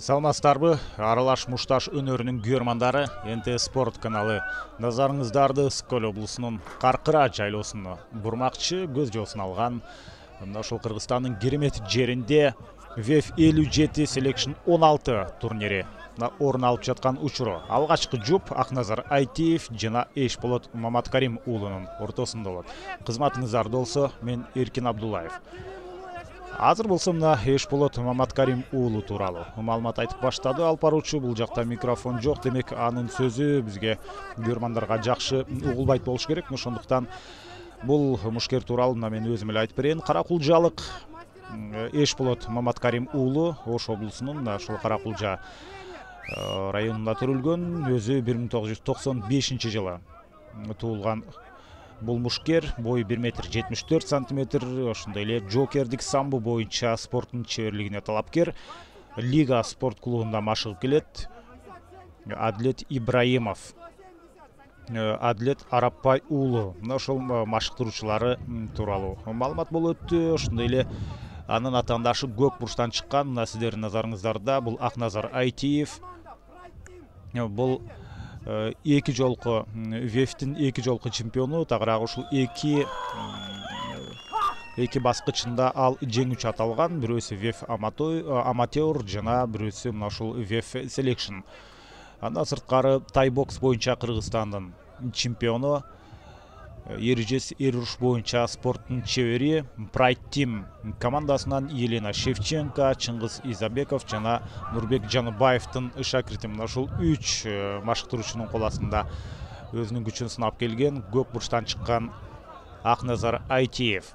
Саламатсыздарбы? Аралаш мушташ өнөрүнүн күйөрмандары НТ Спорт каналы назарыңыздарды Ысык-Көл облусунун Каркыра жайлоосуна бурмакчы көз жоосуна алган. Мына ошол Кыргызстандын керемет жеринде ВЕФ 57 Selection 16 турнири орун алып жаткан учуру. Алгачкы жуп Акназар Айтиев жана Эшполот Маматкарим уулунун ортосунда болот. Кызматыңыздарда болсо, мен Эркин Абдуллаев. Азыр болсо мына Эшполот Маматкарим уулу тууралуу маалымат айтып баштады алып баруучу. Бул жакта микрофон жок, демек анын сөзү бизге көрөрмандарга жакшы угулбайт болуш керек. Ошондуктан бул мушкер тууралуу мен өзүм эле айтып берейин. Каракулжалык Эшполот Маматкарим уулу Ош облусунун ошол Каракулжа районунда төрөлгөн. Өзү 1995 жылы туулган. Бул мушкер бою 1 метр 74 сантиметр, ошондой эле жокердик самбо боюнча спорттун чеберлигине талапкер. Лига спорт клубунда машыгып келет. Адилет Ибраимов, Адилет Арапбай уулу ошол машыктыруучулары тууралуу маалымат болуп өттү. Ошондой эле анын атаандашы көк бурчтан чыккан. Мына сиздердин назарыңыздарда бул Акназар Айтиев. Бул эки жолку ВЕФтин эки жолку чемпиону. Тагыраак ушул эки баскычында ал жеңүүчү аталган. Бирөөсү ВЕФ аматер жана бирөөсү мына ушул ВЕФ Selection. Андан сырткары тайбокс боюнча Кыргызстандын чемпиону, эрежес эр уруш боюнча спорттун чебери, Pride Team командасынан Елена Шевченко, Чыңгыз Изабеков жана Нурбек Жаныбаевдин шакирти. Мына ушул 3 машыктыруучунун кол астында өзүнүн күчүн сынап келген көк бурчтан чыккан Акназар Айтиев.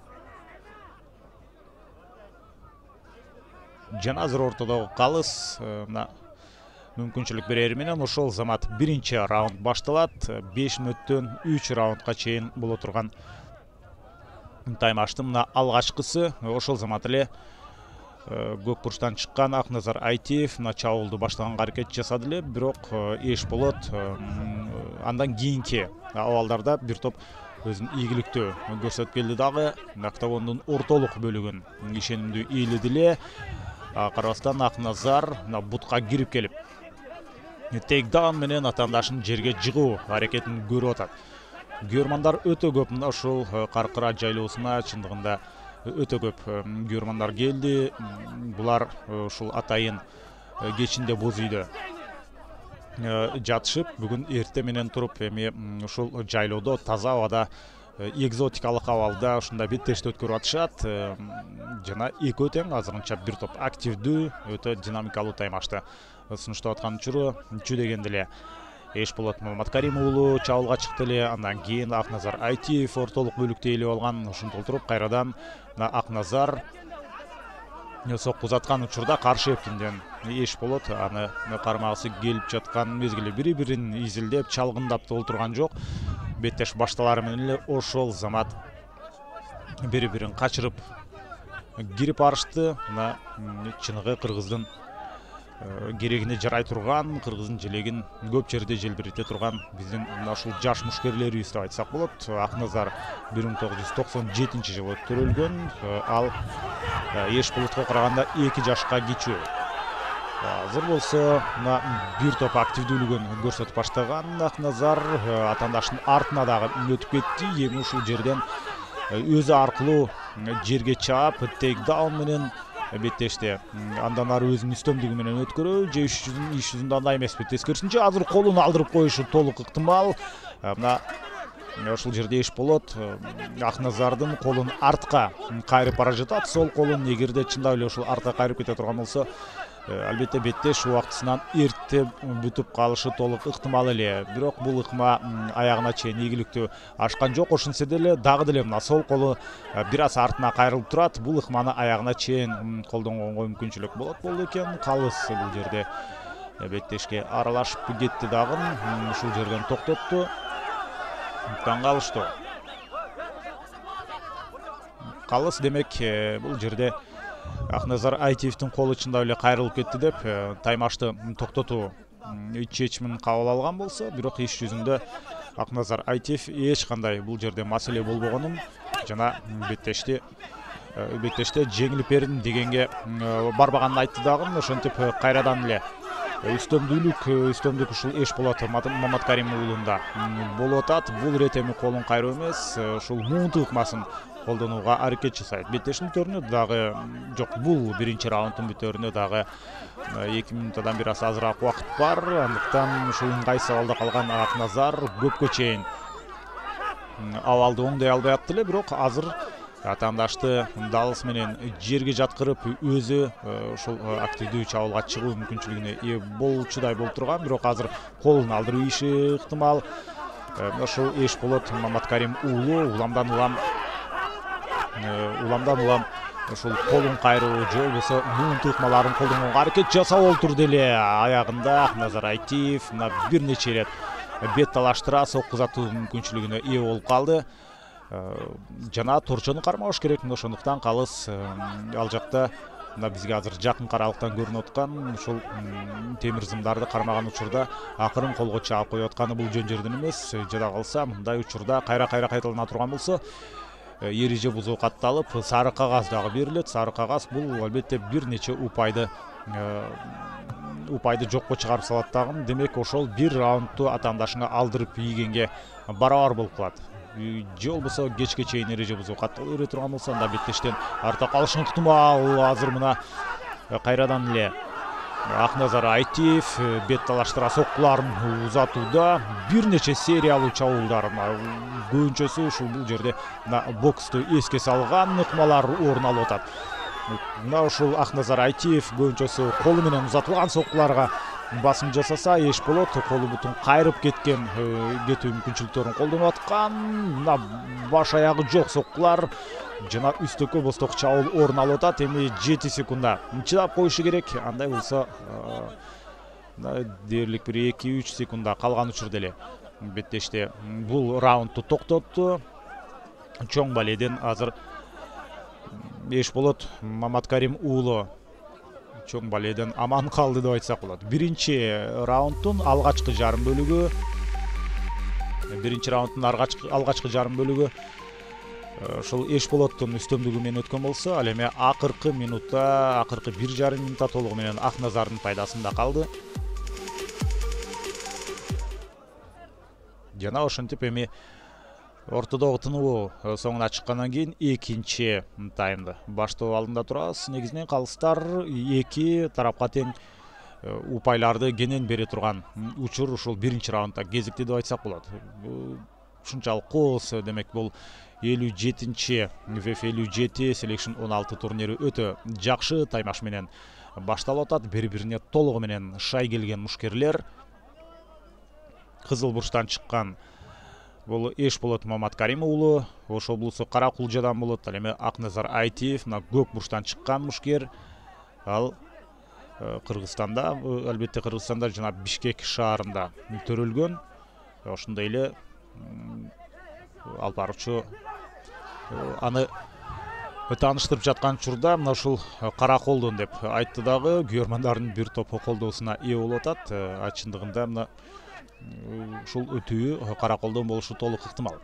Жана азыр ортодогу калыс мүмкүнчүлүк берери менен ошол замат биринчи раунд башталат. 5 мүнөттөн 3 раундга чейин боло турган таймаштын мына алгачкысы. Ошол замат эле көк бурчтан чыккан Акназар Айтиев мына чабуулду баштаганга аракет жасады эле, бирок Эшполот андан кийинки абалдарда бир топ өзүнүн ийгиликтүү көрсөтүп келди дагы. Октагондун ортолук бөлүгүн ишенимдүү ээледи эле. Карабастан Акназар бутка кирип келип тейкдаун менен атаандашын жерге жыгуу аракетин көрүп атат. Көрөрмандар өтө көп мына ушул Каркыра жайлоосуна чындыгында өтө көп көрөрмандар келди. Булар ушул атайын кечинде боз үйдө жатышып, бүгүн эрте менен туруп эми ушул жайлоодо таза абада экзотикалык абалда ушундай беттешти өткөрүп атышат. Жана экөө тең азырынча бир топ активдүү, өтө динамикалуу таймашты сунуштап аткан учуру. Чү дегенде эле Эшполот Маматкарим уулу чабуулга чыкты эле. Андан кийин Акназар Айтиев ортолук бөлүктө ээлеп алган. Ошентип отуруп кайрадан Акназар сокку узаткан учурда каршы эптинден Эшполот аны кармагысы келип жаткан мезгилде бири-бирин изилдеп, чалгындап олтурган жок. Беттеш башталары менен эле ошол замат бири-бирин качырып кирип барышты. Мына чыныгы кыргыздын керегине жарай турган, кыргыздын желегин көп жерде желбирете турган биздин мына ушул жаш мушкерлерибиз деп айтсак болот. Акназар 1997 жылы төрөлгөн. Ал Эшполотко караганда 2 жашка кичүү. Азыр болсо мына бир топ активдүүлүгүн көрсөтүп баштаган Акназар атаандашынын артына дагы өтүп кетти. Эми ушул жерден өзү аркылуу жерге чаап тейкдаун менен беттешти андан ары өзүнүн үстөмдүгү менен өткөрүү же иш жүзүндө андай эмеспи. Тескерисинче азыр колун алдырып коюшу толук ыктымал. Мына ушул жерде Эшполот Акназардын колун артка кайрып бара жатат. Сол колун эгерде чындап эле ушул артка кайрып кете турган болсо, албетте беттеш убактысынан эрте бүтүп калышы толук ыктымал эле. Бирок бул ыкма аягына чейин ийгиликтүү ашкан жок. Ошентсе деле дагы деле мына сол колу бир аз артына кайрылып турат. Бул ыкманы аягына чейин колдонгонго мүмкүнчүлүк болот экен. Калыс бул жерде беттешке аралашып кетти дагы. Ушул жерден токтотту. Таң калыштуу. Калыс демек бул жерде Акназар Айтиевдин колу чындап эле кайрылып кетти деп таймашты токтотуу чечимин кабыл алган болсо, бирок иш жүзүндө Акназар Айтиев эч кандай бул жерде маселе болбогонун жана беттешти беттеште жеңилип бердим дегенге барбаганын айтты дагы. Ошентип кайрадан эле үстөмдүк ушул Эшболот Маматкарим уулунда болуп атат. Бул ирет эми колун кайруу эмес, ушул муунту ыкмасын колдонууга аракет жасайт. Беттештин бүтөөрүнө дагы жок, бул биринчи раундтун бүтөөрүнө дагы 2 минутадан бир аз азыраак убакыт бар. Андыктан ушул ыңгайсыз абалда калган Акназар көпкө чейин абалды оңдой албай атты эле, бирок азыр атаандашты далыс менен жерге жаткырып өзү ушул активдүү чабуулга чыгуу мүмкүнчүлүгүнө ээ болчудай болуп турган, бирок азыр колун алдырып ийиши ыктымал. Ошол Эшболот Маматкарим уулу уламдан улам ушул колун кайруу же болбосо муунту ыкмаларын колдонууга аракет жасап олтурду эле. Аягында Акназар Айтиев бир нече ирет бет талаштыра соккузатуу мүмкүнчүлүгүнө ээ болуп калды. Жана торчону кармабаш керек. Ошондуктан калыс ал жакта бизге азыр жакын каралыктан көрүнүп аткан ушул темир зымдарды кармаган учурда акырын колго чаап коюп атканы бул жөн жерден эмес. Жада калса мындай учурда кайра кайталана турган болсо эреже бузуу катталып сары кагаз дагы берилет. Сары кагаз бул албетте бир нече упайды жокко чыгарып салат дагы. Демек ошол бир раундту атаандашыңа алдырып ийгенге барабар болуп калат. Же болбосо кечке чейин эреже бузуу каттала бере турган болсо анда беттештен арта калышың ыктымал. Азыр мына кайрадан эле Акназар Айтиев бет талаштыра соккуларын узатууда бир нече сериялуу чабуулдар көбүнчөсү ушул бул жерде боксту эске салган ыкмалар орун алып атат. Мына ушул Акназар Айтиев көбүнчөсү колу менен узатылган соккуларга басым жасаса, Эшболот колу бутун кайрып кетүү мүмкүнчүлүктөрүн колдонуп аткан. Мына баш аягы жок соккулар жана үстөккө босток чабуул орун алып атат. Эми 7 секундда чыдап коюшу керек. Андай болсо дээрлик бир 2-3 секундда калган учурда эле беттеште бул раундту токтотту. Чоң баледен азыр Эшболот Маматкарим уулу чоң баледен аман калды деп айтсак болот. Биринчи раундтун алгачкы жарым бөлүгү ушул Эшболоттун үстөмдүгү менен өткөн болсо, ал эми акыркы 1,5 минутта толугу менен Акназардын пайдасында калды. Жана ошентип эми ортодогу тынуу соңуна чыккандан кийин экинчи таймды баштоо алдында турабыз. Негизинен калыстар эки тарапка тең упайларды кенен бере турган учур ушул биринчи раундда кезикти деп айтсак болот. Ушунчалык кооз, демек бул 57-чи VF 57 Selection 16 турнири өтө жакшы таймаш менен башталып атат. Бири-бирине толугу менен шай келген мушкерлер. Кызыл бурчтан чыккан бул Эшболот Маматкарим уулу, ошол булсу Кара Кулжадан болот. Ал эми Акназар Айтиев көк бурчтан чыккан мушкер. Ал Кыргызстанда, албетте Кыргызстанда жана Бишкек шаарында төрөлгөн. Ошондой эле алып баруучу аны тааныштырып жаткан учурда мына ушул кара колдон деп айтты дагы. Күйөрмандардын бир топу колдоосуна ээ болуп атат. Чындыгында мына ушул өтүү кара колдон болушу толук ыктымал.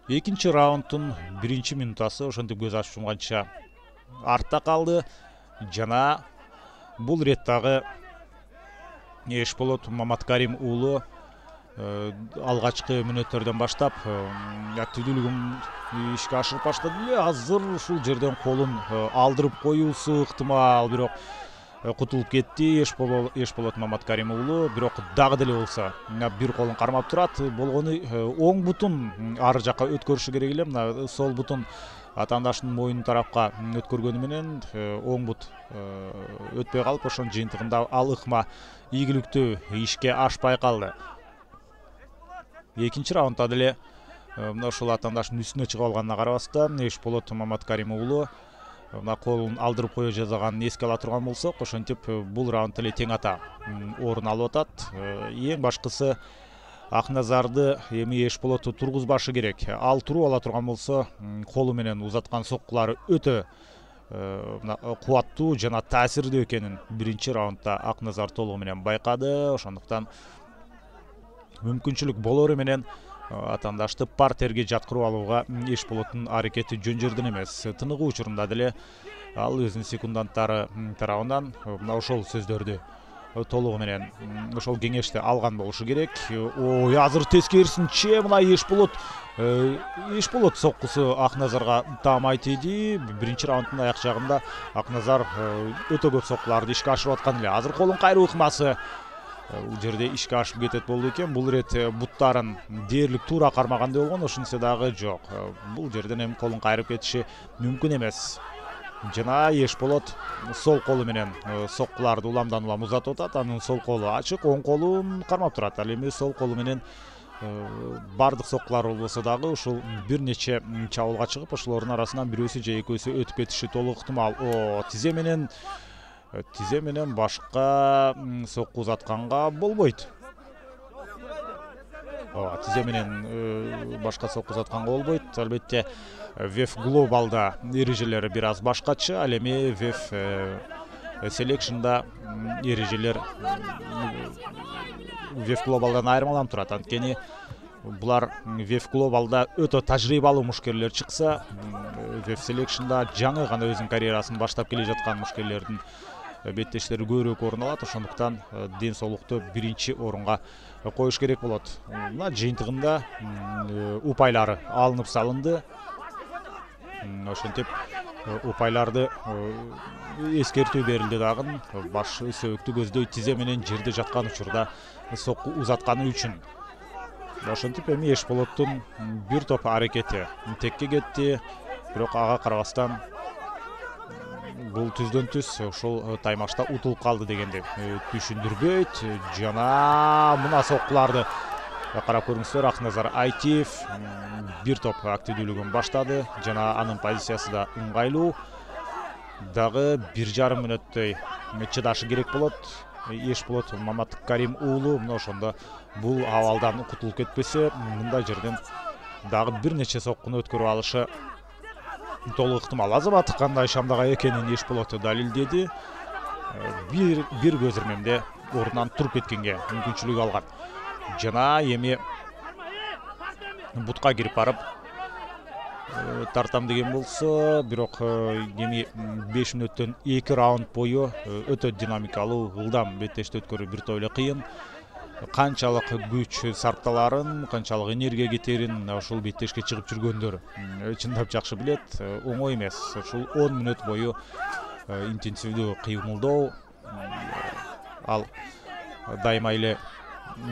Экинчи раундтун биринчи минутасы ошентип көз ачып жумганча артта калды. Жана бул ирет дагы Эшболот Маматкарим уулу алгачкы мүнөттөрдөн баштап активдүүлүгүн ишке ашырып баштады эле. Азыр ушул жерден колун алдырып коюусу ыктымал, бирок кутулуп кетти Эшболот Маматкарим уулу. Бирок дагы деле болсо бир колун кармап турат. Болгону оң бутун ары жакка өткөрүшү керек эле. Мына сол бутун атаандашынын моюнун тарапка өткөргөнү менен оң бут өтпөй калып, ошонун жыйынтыгында ал ыкма ийгиликтүү ишке ашпай калды. Экинчи раундда деле мына ушул атаандашынын үстүнө чыгып алганына карабастан Эшболот Маматкарим уулу мына колун алдырып кое жазаганын эске ала турган болсок, ошентип бул раунд эле тең ата орун алып атат. Эң башкысы Акназарды эми Эшболот тургузбашы керек. Ал туруп ала турган болсо, колу менен узаткан соккулары өтө кубаттуу жана таасирдүү экенин биринчи раундда Акназар толугу менен байкады. Ошондуктан мүмкүнчүлүк болору менен атаандашты партерге жаткырып алууга Эшболоттун аракети жөн жерден эмес. Тыныгуу учурунда деле ал өзүнүн секунданттары тарабынан мына ошол сөздөрдү толугу менен ошол кеңешти алган болушу керек. Ой, азыр тескерисинче мына Эшболот соккусу Акназарга таамай тийди. Биринчи раунддун аяк жагында Акназар өтө көп соккуларды ишке ашырып аткан эле. Азыр колун кайруу ыкмасы бул жерде ишке ашып кетет болду экен. Бул ирет буттарын дээрлик туура кармагандай болгон, ошентсе дагы жок. Бул жерден эми колун кайрып кетиши мүмкүн эмес. Жана Эшболот сол колу менен соккуларды уламдан улам узатып атат. Анын сол колу ачык, оң колун кармап турат. Ал эми сол колу менен бардык соккулар болбосо дагы ушул бир нече чабуулга чыгып, ошолордун арасынан бирөөсү же экөөсү өтүп кетиши толук ыктымал. Тизе менен башка сокку узатканга болбойт. Тизе менен башка сокку узатканга болбойт. Албетте VEF Global'da эрежелери бир аз башкача. Ал эми VEF Selection'da эрежелер VEF Global'дан айырмаланып турат. Анткени булар VEF Global'da өтө тажрыйбалуу мушкерлер чыкса, VEF Selection'da жаңы гана өзүнүн карьерасын баштап келе жаткан мушкерлердин беттештери көбүрөөк орун алат. Ошондуктан ден соолукту биринчи орунга коюш керек болот. Мына жыйынтыгында упайлары алынып салынды. Ошентип упайларды эскертүү берилди дагы. Баш сөөктү көздөй тизе менен жерде жаткан учурда сокку узатканы үчүн. Ошентип эми Эшболоттун бир топ аракети текке кетти. Бирок ага карабастан бул түздөн түз ошол таймашта утулуп калды дегенди түшүндүрбөйт. Жана мына соккуларды карап көрүңүздөр. Акназар Айтиев бир топ активдүүлүгүн баштады жана анын позициясы да ыңгайлуу. Дагы 1,5 мүнөттөй чыдашы керек болот. Эшболот Маматкарим уулу мына ошондо бул абалдан кутулуп кетпесе, мындай жерден дагы бир нече соккуну өткөрүп алышы толук ыктымал. Азамат кандай шамдага экенин Эшболот далилдеди. Бир көз ирмемде ордунан туруп кеткенге мүмкүнчүлүк алган. Жана эми бутка кирип барып тартам деген болсо, бирок эми 5 мүнөттөн 2 раунд бою өтө динамикалуу, ылдам беттешти өткөрүү бир топ эле кыйын. Канчалык күч сарпталарын, канчалык энергия кетерин ушул беттешке чыгып жүргөндөр чындап жакшы билет. Оңой эмес. Ушул 10 мүнөт бою интенсивдүү кыймылдоо ал дайыма эле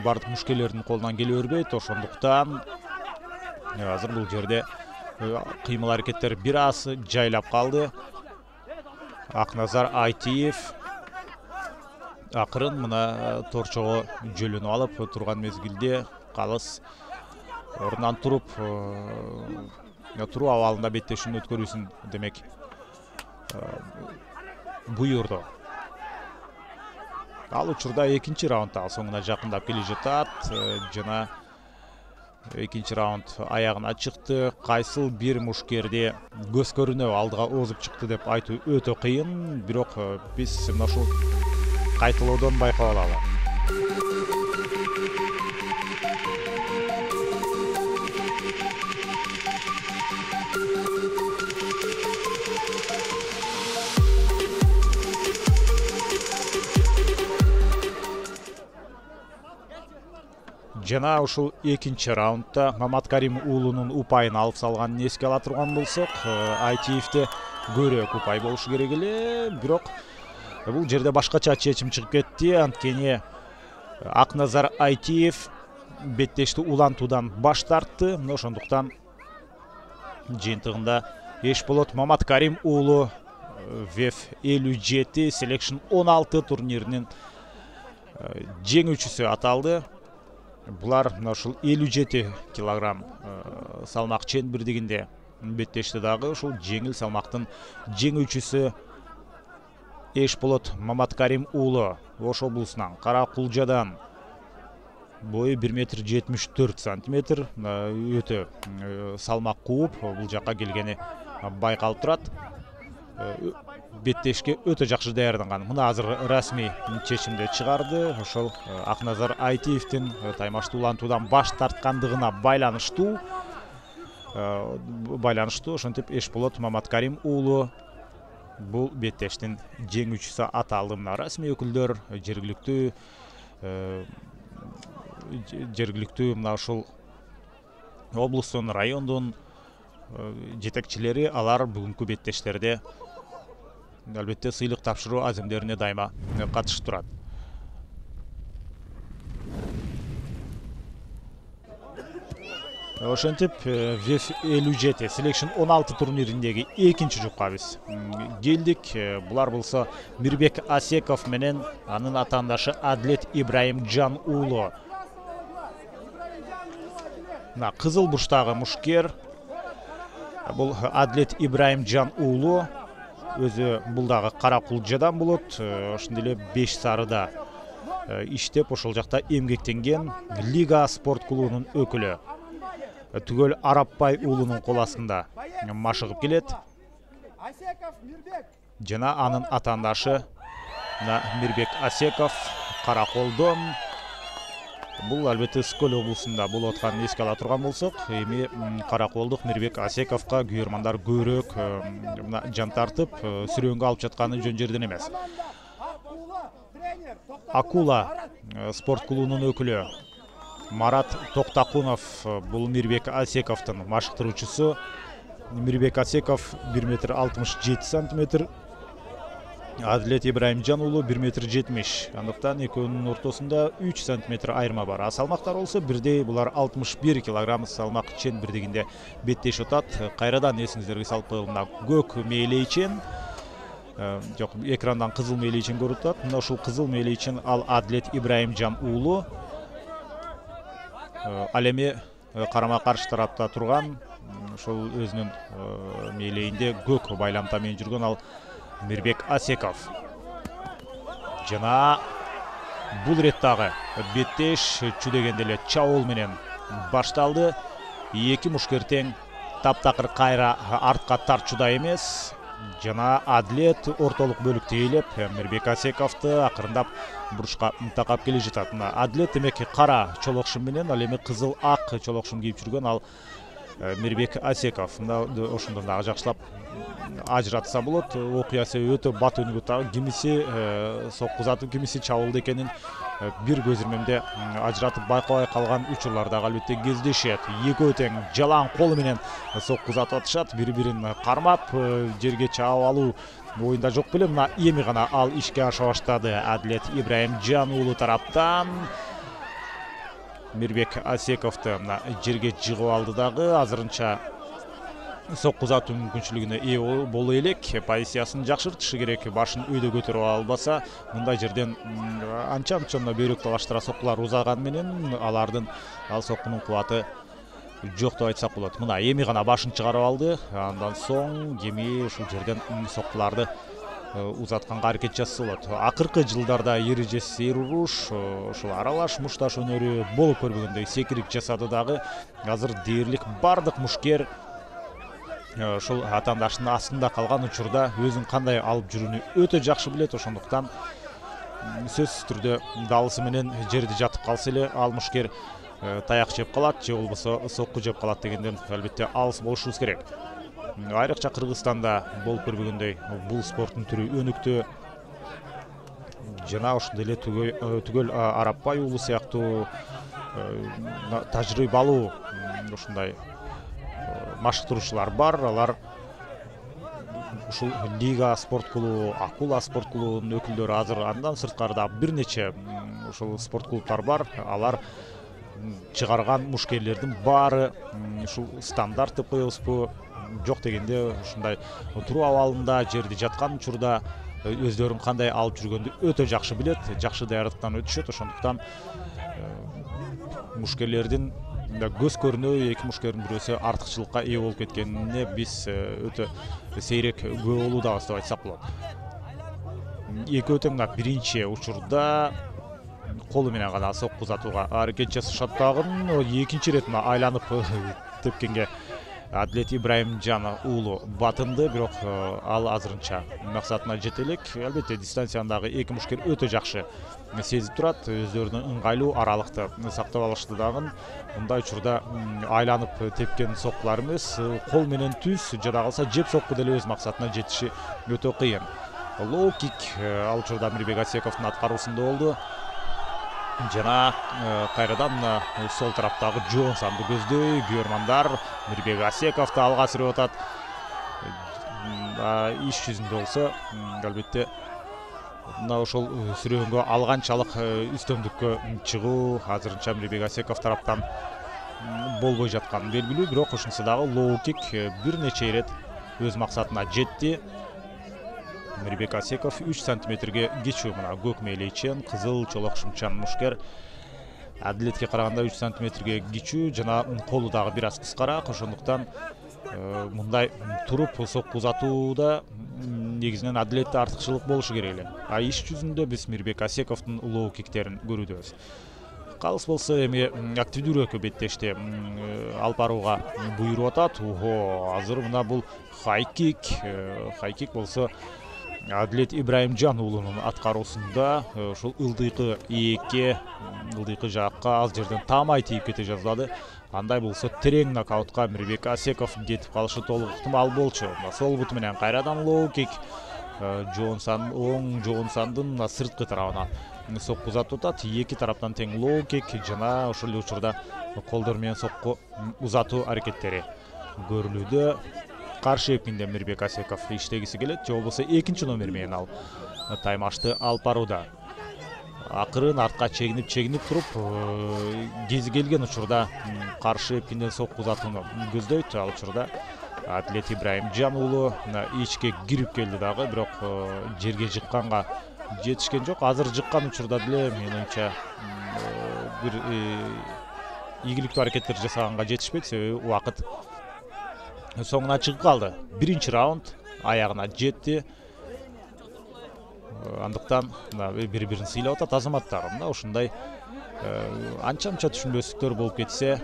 бардык мушкелердин колунан келе бербейт. Ошондуктан азыр бул жерде кыймыл аракеттер бир аз жайлап калды. Акназар Айтиев акырын мына торчого жөлөнүп алып турган мезгилде калыс ордунан туруп абалында беттешүүнүн өткөрүүсүн демек буйрду. Ал учурда экинчи раундда соңуна жакындап келе жатат жана экинчи раунд аягына чыкты. Кайсыл бир мушкерде көз көрүнө алдыга озуп чыкты деп айтуу өтө кыйын, бирок биз мына ушул кайталоодон байкап алалы. Жана ушул экинчи раундда Маматкарим уулунун упайын алып салганын эске ала турган болсок, Айтиевде көбүрөөк упай болушу керек эле, бирок бул жерде башкача чечим чыгып кетти. Анткени Акназар Айтиев беттешти улантуудан баш тартты. Ошондуктан жыйынтыгында Эшболот Маматкарим уулу VEF 57 Selection 16 турниринин жеңүүчүсү аталды. Булар мына ушул 57 килограмм салмак чен бирдигинде беттешти дагы ушул жеңил салмактын жеңүүчүсү Эшболот Маматкарим уулу Ош облусунан Кара Кулжадан бою 1,74 метр өтө салмак кууп бул жакка келгени байкалып турат. беттешке өтө жакшы даярданган. Мына азыр расмий чечимди чыгарды. Ошол Акназар Айтиевдин таймашты улантуудан баш тарткандыгына байланыштуу. Ошентип Эшболот Маматкарим уулу бул беттештин жеңүүчүсү аталды. Мына расмий өкүлдөр, жергиликтүү мына ушул облустун, райондун жетекчилери алар бүгүнкү беттештерде албетте сыйлык тапшыруу аземдерине дайыма катышып турат. Ошентип VF 57 Selection 16 турнириндеги экинчи жупка биз келдик. Булар болсо Мирбек Асеков менен анын атаандашы Адлет Ибраимжан уулу. Мына кызыл бурчтагы мушкер бул Адлет Ибраимжан уулу. Өзү бул дагы кара кулжадан болот. Ошондой эле 5 сарыда иштеп, ошол жакта эмгектенген Лига спорт клубунун өкүлү. Түгөл Арапбай уулунун кол астында машыгып келет. Жана анын атаандашы Мирбек Асеков караколдон. Бул албетте Скөл облусунда болуп атканын эске ала турган болсок, эми караколдук Мирбек Асековго күйөрмандар көбүрөөк жан тартып, сүрөөнгө алып жатканы жөн жерден эмес. Акула спорт клубунун өкүлү Марат Токтакунов бул Мирбек Асековдун машыктыруучусу. Мирбек Асеков 1,67 м, Адлет Ибраимжан уулу 1,70 м. Андыктан экөөнүн ортосунда 3 см айырма бар. Салмактар болсо бирдей, булар 61 кг салмак чен бирдигинде беттешип атат. Кайрадан эсиңиздерге салып коелу, көк мээлейчен, жок, экрандан кызыл мээлейчен көрүп атат. Мына ушул кызыл мээлейчен ал Адлет Ибраимжан уулу. Ал эми карама каршы тарапта турган, ошол өзүнүн мээлейинде көк байламта менен жүргөн ал Мирбек Асеков. Жана бул реттагы беттеш чүдегенде эле чабуул менен башталды. Эки мушкер тең таптакыр кайра артка тартчуда эмес. Жана Адлет ортолук бөлүктө ээлеп, Мирбек Асековду акырындап бурчка такап келе жатат. Адлет демек кара чолокшум менен, ал эми кызыл ак чолокшум кийип жүргөн ал Мирбек Асеков. Ошондон дагы жакшылап ажыратса болот. Окуя себеби өтө бат өнүгүп, кимиси соккузатып, кимиси чабуулда экенин бир көз ирмемде ажыратып байкабай калган учурлар дагы албетте кездешет. Экөө тең жалаң колу менен соккузатып атышат, бири-бирин кармап, жерге чаап алуу оюнда жок беле. Мына эми гана ал ишке аша баштады. Адлет Ибраимжан уулу тараптан Мирбек Асековду жерге жыгып алды дагы. Азырынча соккузатуу мүмкүнчүлүгүнө ээ боло элек, позициясын жакшыртышы керек. Башын өйдө көтөрүп албаса, мындай жерден анча-мынча бөйрөк талаштыра соккулар узаган менен алардын ал соккунун кубаты жок деп айтсак болот. Мына эми гана башын чыгарып алды. Андан соң эми ушул жерден соккуларды узатканга аракет жасаса болот. Акыркы жылдарда эрежесиз эр уруш, ушул аралаш мушташ өнөрү болуп көрбөгөндөй секирик жасады дагы. Азыр дээрлик бардык мушкер ушул атаандашынын астында калган учурда өзүн кандай алып жүрүүнү өтө жакшы билет. Ошондуктан сөзсүз түрдө далысы менен жерде жатып калса эле ал мушкер таяк жеп калат же болбосо сокку жеп калат дегенден албетте алыс болушубуз керек. Айрыкча Кыргызстанда болуп көрбөгөндөй бул спорттун түрү өнүктү. Жана ошондой эле түгөл Арапбай уулу сыяктуу тажрыйбалуу ушундай машыктыруучулар бар. Алар ушул Лига спорт клубу, Акула спорт клубунун өкүлдөрү азыр, андан сырткары да бир нече ушул спорт клубтар бар. Алар чыгарган мушкерлердин баары ушул стандарт деп коебузбу, жок дегенде ушундай туруу абалында жерде жаткан учурда өздөрүн кандай алып жүргөндү өтө жакшы билет, жакшы даярдыктан өтүшөт. Ошондуктан мушкерлердин көз көрүнө эки мушкердин бирөөсү артыкчылыкка ээ болуп кеткенине биз өтө сейрек күбө болуудабыз деп айтсак болот. Экөө тең биринчи учурда колу менен гана соккузатууга аракет жасашат дагы. Экинчи ирет айланып тепкенге Адилет Ибраимжан уулу батынды, бирок ал азырынча максатына жете элек. Албетте дистанциядагы эки мушкер өтө жакшы сезип турат, өздөрүнүн ыңгайлуу аралыкты сактап алышты дагы. Мындай учурда айланып тепкен соккулар эмес, кол менен түз, жада калса жеп сокку деле өз максатына жетиши өтө кыйын. Лоу кик ал учурда Мирбек Асековдун аткаруусунда болду. Жана кайрадан сол тараптагы Джонсонду көздөй күйөрмандар Мирбек Асековду алга сүрүп атат. Иш жүзүндө болсо албетте мына ошол сүрөөнгө алганчалык үстөмдүккө чыгуу азырынча Мирбек Асеков тараптан болбой жатканы белгилүү, бирок ушунусу дагы лоу кик бир нече ирет өз максатына жетти. Мирбек Асеков 3 сантиметрге кечүү, мына көк мээлейчен, кызыл чолок шымчан мушкер. Адилетке караганда 3 сантиметрге кечүү жана колу дагы бир аз кыскараак, ошондуктан мындай туруп сокку узатууда негизинен Адилетте артыкчылык болушу керек эле. Иш жүзүндө биз Мирбек Асековдун лоу киктерин көрүүдөбүз. Калыс болсо эми активдүүрөөккө беттешти алып барууга буйруп атат. Азыр мына бул хайкик болсо Адилет Ибраимжан уулунун аткаруусунда ушул ылдыйкы ийекке, ылдыйкы жакка аз жерден таамай тийип кете жаздады. Андай болсо терең нокаутка Мирбек Асеков кетип калышы толук ыктымал болчу. Сол буту менен кайрадан лоу кик Джонсондун сырткы тарабына сокку узатып атат. Эки тараптан тең лоу кик жана ошол эле учурда колдор менен сокку узатуу аракеттери көрүлүүдө. Каршы эпкинде Мирбек Асеков иштегиси келет, же болбосо экинчи номер менен ал таймашты алып барууда. Акырын артка чегинип туруп, кези келген учурда каршы эпкинден сокку узатууну көздөйт. Ал учурда Адилет Ибраимжан уулу ичке кирип келди дагы, бирок жерге жыкканга жетишкен жок. Азыр жыккан учурда деле менин оюмча бир ийгиликтүү аракеттер жасаганга жетишпейт, себеби убакыт соңуна чыгып калды. Биринчи раунд аягына жетти. Андыктан бири-бирин сыйлап атат азаматтар. Мына ушундай анча-мынча түшүнбөстүктөр болуп кетсе,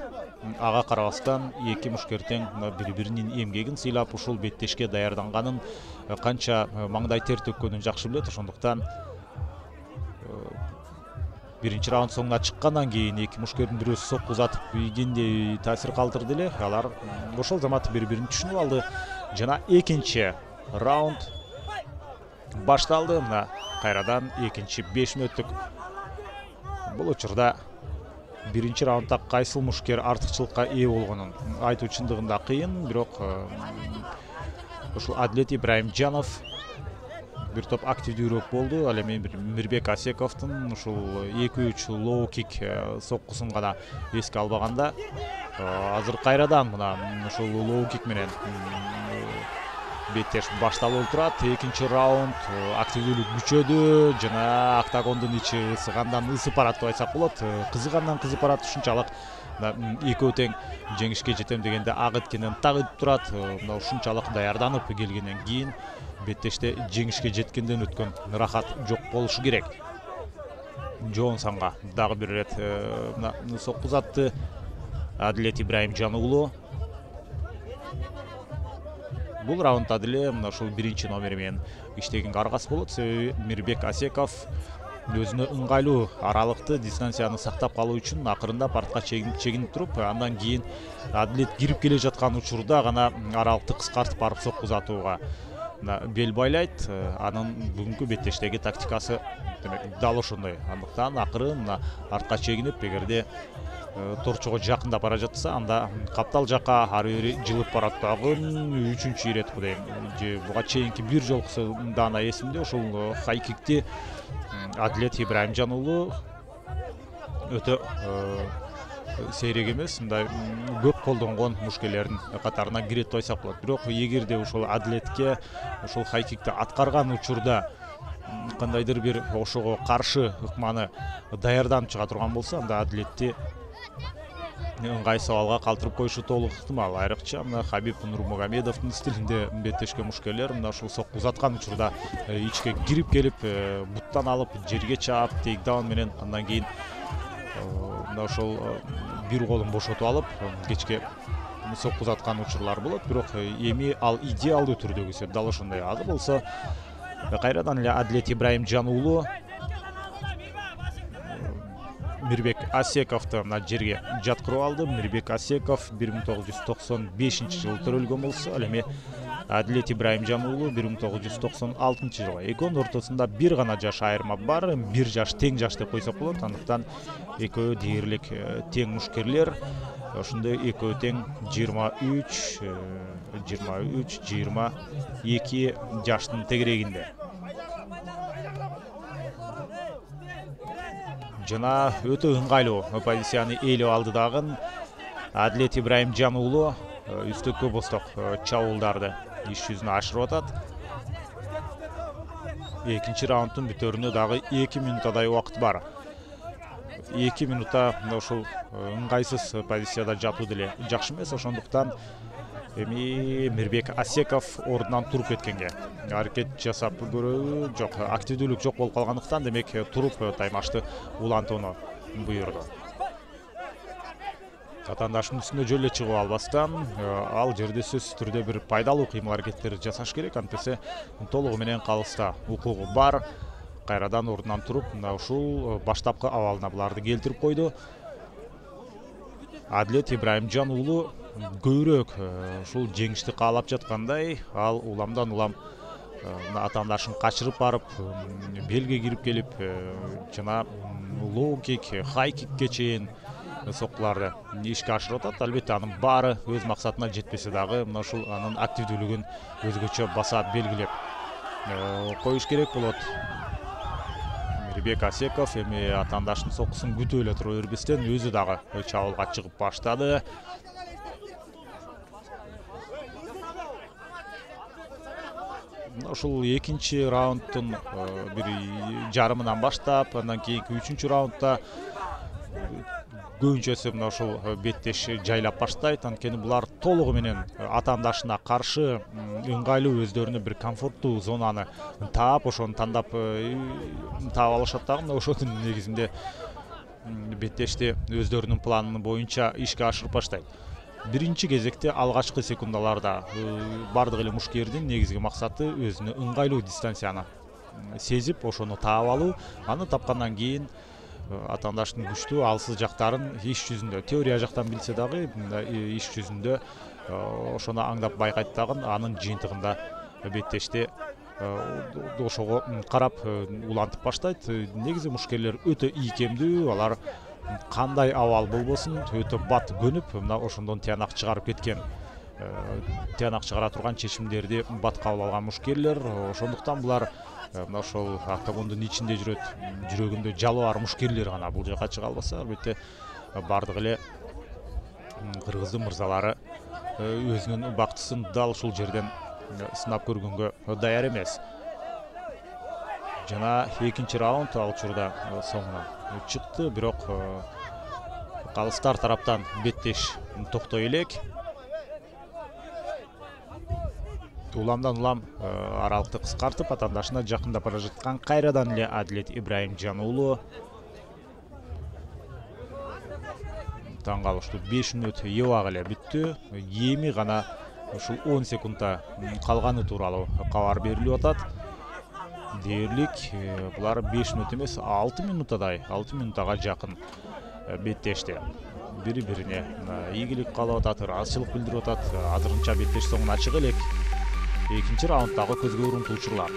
ага карабастан эки мушкер тең бири-биринин эмгегин сыйлап ушул беттешке даярданганын, канча маңдай тер төккөнүн жакшы билет. Ошондуктан биринчи раунд соңуна чыккандан кийин эки мушкердин бирөөсү сокку узатып ийгендей таасир калтырды эле. Алар ошол замат бири-бирин түшүнүп алды жана экинчи раунд башталды. Мына кайрадан экинчи 5 мүнөттүк. Бул учурда биринчи раундда кайсыл мушкер артыкчылыкка ээ болгонун айтуу чындыгында кыйын, бирок ушул Адилет Ибраимжанов бир топ активдүүрөөк болду. Ал эми Мирбек Асековдун ушул 2-3 лоу кик соккусун гана эске албаганда, азыр кайрадан мына ушул лоу кик менен беттеш башталып турат. Экинчи раунд активдүүлүк күчөдү жана октагондун ичи ысыгандан ысып барат деп айтсак болот. Кызыгандан кызып барат. Ушунчалык экөө тең жеңишке жетем дегенде ак эткенен так өтүп турат. Мына ушунчалык даярданып келгенден кийин беттеште жеңишке жеткенден өткөн рахат жок болушу керек. Джонсонго дагы бир ирет мына сокку узатты Адилет Ибраимжан уулу. Бул раундда деле мына ушул биринчи номер менен иштегенге аргасы болот, себеби Мирбек Асеков өзүнө ыңгайлуу аралыкты, дистанцияны сактап калуу үчүн акырындап артка чегинип туруп, андан кийин Адилет кирип келе жаткан учурда гана аралыкты кыскартып барып сокку узатууга бел байлайт. Анын бүгүнкү беттештеги тактикасы демек дал ошондой. Андыктан акырын артка чегинип, эгерде торчого жакындап бара жатса, анда каптал жакка ары бери жылып барат дагы. Үчүнчү ирет кудайым. Же буга чейинки бир жолкусу дана эсимде, ушул хайкикти Адилет Ибраимжан уулу өтө сейрек эмес, мындай көп колдонгон мушкерлердин катарына кирет деп айтсак болот. Бирок эгерде ушул Адилетке ушул хайкикти аткарган учурда кандайдыр бир ошого каршы ыкманы даярданып чыга турган болсо, анда Адилетти ыңгай сабалга калтырып коюшу толук ыктымал. Айрыкча мына Хабиб Нурмагомедовдун стилинде беттешкен мушкерлер мына ушул сокку узаткан учурда ичке кирип келип, буттан алып жерге чаап, тейкдаун менен андан кийин мына ошол бир колун бошотуп алып, кечке сокку узаткан учурлар болот, бирок эми ал идеалдуу түрдөгү эсеп дал ошондой. Азыр болсо кайрадан эле Адилет Ибраимжан уулу Мирбек Асековду мына жерге жаткырып алды. Мирбек Асеков 1995-жылы төрөлгөн болсо, ал эми Адилет Ибраимжан уулу 1996-жылы. Экөөнүн ортосунда бир гана жаш айырма бар, бир жаш тең жаш деп койсок болот. Андыктан экөө дээрлик тең мушкерлер. Ошондой экөө тең 23-22 жаштын тегерегинде. Жана өтө ыңгайлуу позицияны ээлеп алды дагы Адилет Ибраимжан уулу үстөккө босток чабуулдарды иш жүзүнө ашырып атат. Экинчи раундтун бүтөрүнө дагы 2 минутадай убакыт бар. 2 минутта ушул ыңгайсыз позицияда жатуу деле жакшы эмес. Ошондуктан эми Мирбек Асеков ордунан туруп кеткенге аракет жасап көрөбү? Жок, активдүүлүк жок болуп калгандыктан демек туруп таймашты улантууну буйрду. Атаандашынын үстүнө жөн эле чыгып албастан ал жерде сөзсүз түрдө бир пайдалуу кыймыл аракеттер жасаш керек. Антесе толугу менен калыста укугу бар. Кайрадан ордунан туруп мына ушул баштапкы абалына буларды келтирип койду. Адилет Ибраимжан уулу көбүрөөк ушул жеңишти каалап жаткандай, ал уламдан улам атаандашын качырып барып, белге кирип келип, жана лоу-кик, хай-кикке чейин соккуларды ишке ашырып атат. Албетте анын баары өз максатына жетпесе дагы, мына ушул анын активдүүлүгүн өзгөчө баса белгилеп коюш керек болот. Мирбек Асеков эми атаандашынын соккусун күтүп эле тура бербестен өзү дагы чабуулга чыгып баштады. Ушул экинчи раундтун бир жарымынан баштап, андан кийинки үчүнчү раундда көбүнчөсү мына ушул беттеш жайлап баштайт. Анткени булар толугу менен атаандашына каршы ыңгайлуу өздөрүнө бир комфорттуу зонаны таап, ошону тандап таап алышат дагы. Мына ошонун негизинде беттешти өздөрүнүн планы боюнча ишке ашырып баштайт. Биринчи кезекте алгачкы секундаларда бардык эле мушкердин негизги максаты өзүнө ыңгайлуу дистанцияны сезип, ошону таап алуу. Аны тапкандан кийин атаандашынын күчтүү алсыз жактарын иш жүзүндө, теория жактан билсе дагы иш жүзүндө ошону аңдап байкайт дагы. Анын жыйынтыгында беттешти ошого карап улантып баштайт. Негизи мушкерлер өтө ийкемдүү, алар кандай абал болбосун өтө бат көнүп, мына ошондон тыянак чыгарып кеткен, тыянак чыгара турган чечимдерди бат кабыл алган мушкерлер. Ошондуктан булар мына ошол октагондун ичинде жүрөт, жүрөгүндө жалы бар мушкерлер гана бул жака чыга албаса, албетте бардык эле кыргыздын мырзалары өзүнүн бактысын дал ушул жерден сынап көргөнгө даяр эмес. Жана экинчи раунд ал учурда соңуна чыкты, бирок калыстар тараптан беттеш токтой элек. Уламдан улам аралыкты кыскартып, атаандашына жакындап бара жаткан кайрадан эле Адилет Ибраимжан уулу. Таң калыштуу 5 мүнөт эбак эле бүттү. Эми гана ушул 10 секундда калганы тууралуу кабар берилип атат. Дээрлик булар 5 мүнөт эмес, 6 минутадай, 6 минутага жакын беттешти. Бири-бирине ийгилик каалап атат, ыраазычылык билдирип атат. Азырынча беттеш соңуна чыга элек. Экинчи раунддагы көзгө урунтуу учурлар.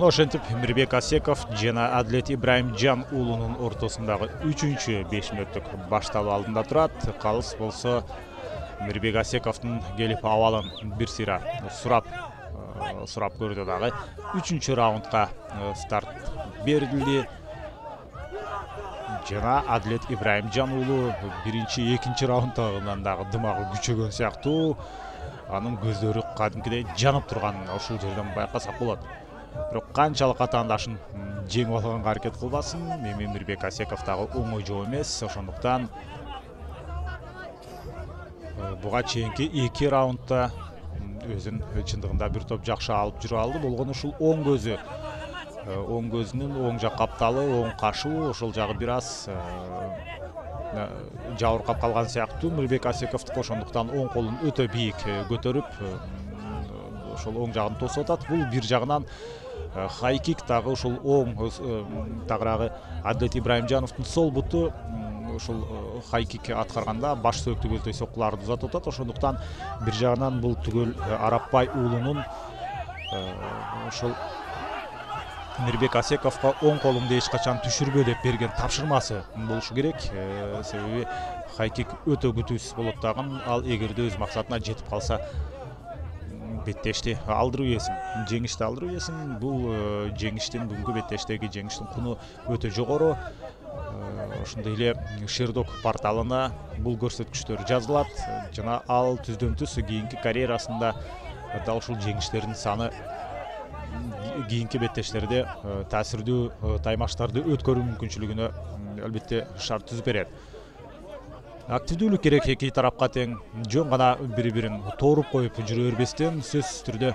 Ошентип Мирбек Асеков жана Адилет Ибраимжан уулунун ортосундагы 3-5 мүнөттүк башталуу алдында турат. Калыс болсо Мирбек Асековдун келип абалын бир сыйра сурап көрдү дагы. 3-чү раундга старт берилди. Жана Адилет Ибраимжан уулу биринчи, экинчи раундтагынан дагы дымагы күчөгөн сыяктуу. Анын көздөрү кадимкидей жанып турганын ушул жерден байкасак болот. бирок канчалык атаандашын жеңип алганга аракет кылбасын, эми Мирбек Асеков дагы оңой жоо эмес. Ошондуктан буга чейинки 2 раундда өзүн чындыгында бир топ жакшы алып жүрө алды. Болгону ушул оң көзүнүн оң жак капталы, оң кашуу ошол жагы бир аз жабыркап калган сыяктуу Мирбек Асековдук. Ошондуктан оң колун өтө бийик көтөрүп ошол оң жагын тосуп атат. Бул бир жагынан хайкик дагы ушул оң тагыраагы Адлет Ибраимжановдун сол буту ушул хайкик аткарганда баш сөөктү көздөй соккуларды узатып атат. Ошондуктан бир жагынан бул түгөл Арапбай уулунун ошол Мирбек Асековго оң колуңду эч качан түшүрбө деп берген тапшырмасы болушу керек. Себеби хайкик өтө күтүүсүз болот дагы. Ал эгерде өз максатына жетип калса беттешти алдыруу эсим, жеңишти алдыруу эсим. Бул жеңиштин бүгүнкү беттештеги жеңиштин куну өтө жогору. Ошондой эле Шердок порталына бул көрсөткүчтөр жазылат жана ал түздөн түз кийинки карьерасында дал ушул жеңиштердин саны кийинки беттештерде таасирдүү таймаштарды өткөрүү мүмкүнчүлүгүнө албетте шарт түзүп берет. Активдүүлүк керек эки тарапка тең. Жөн гана бири-бирин тооруп коюп жүрө бербестен сөзсүз түрдө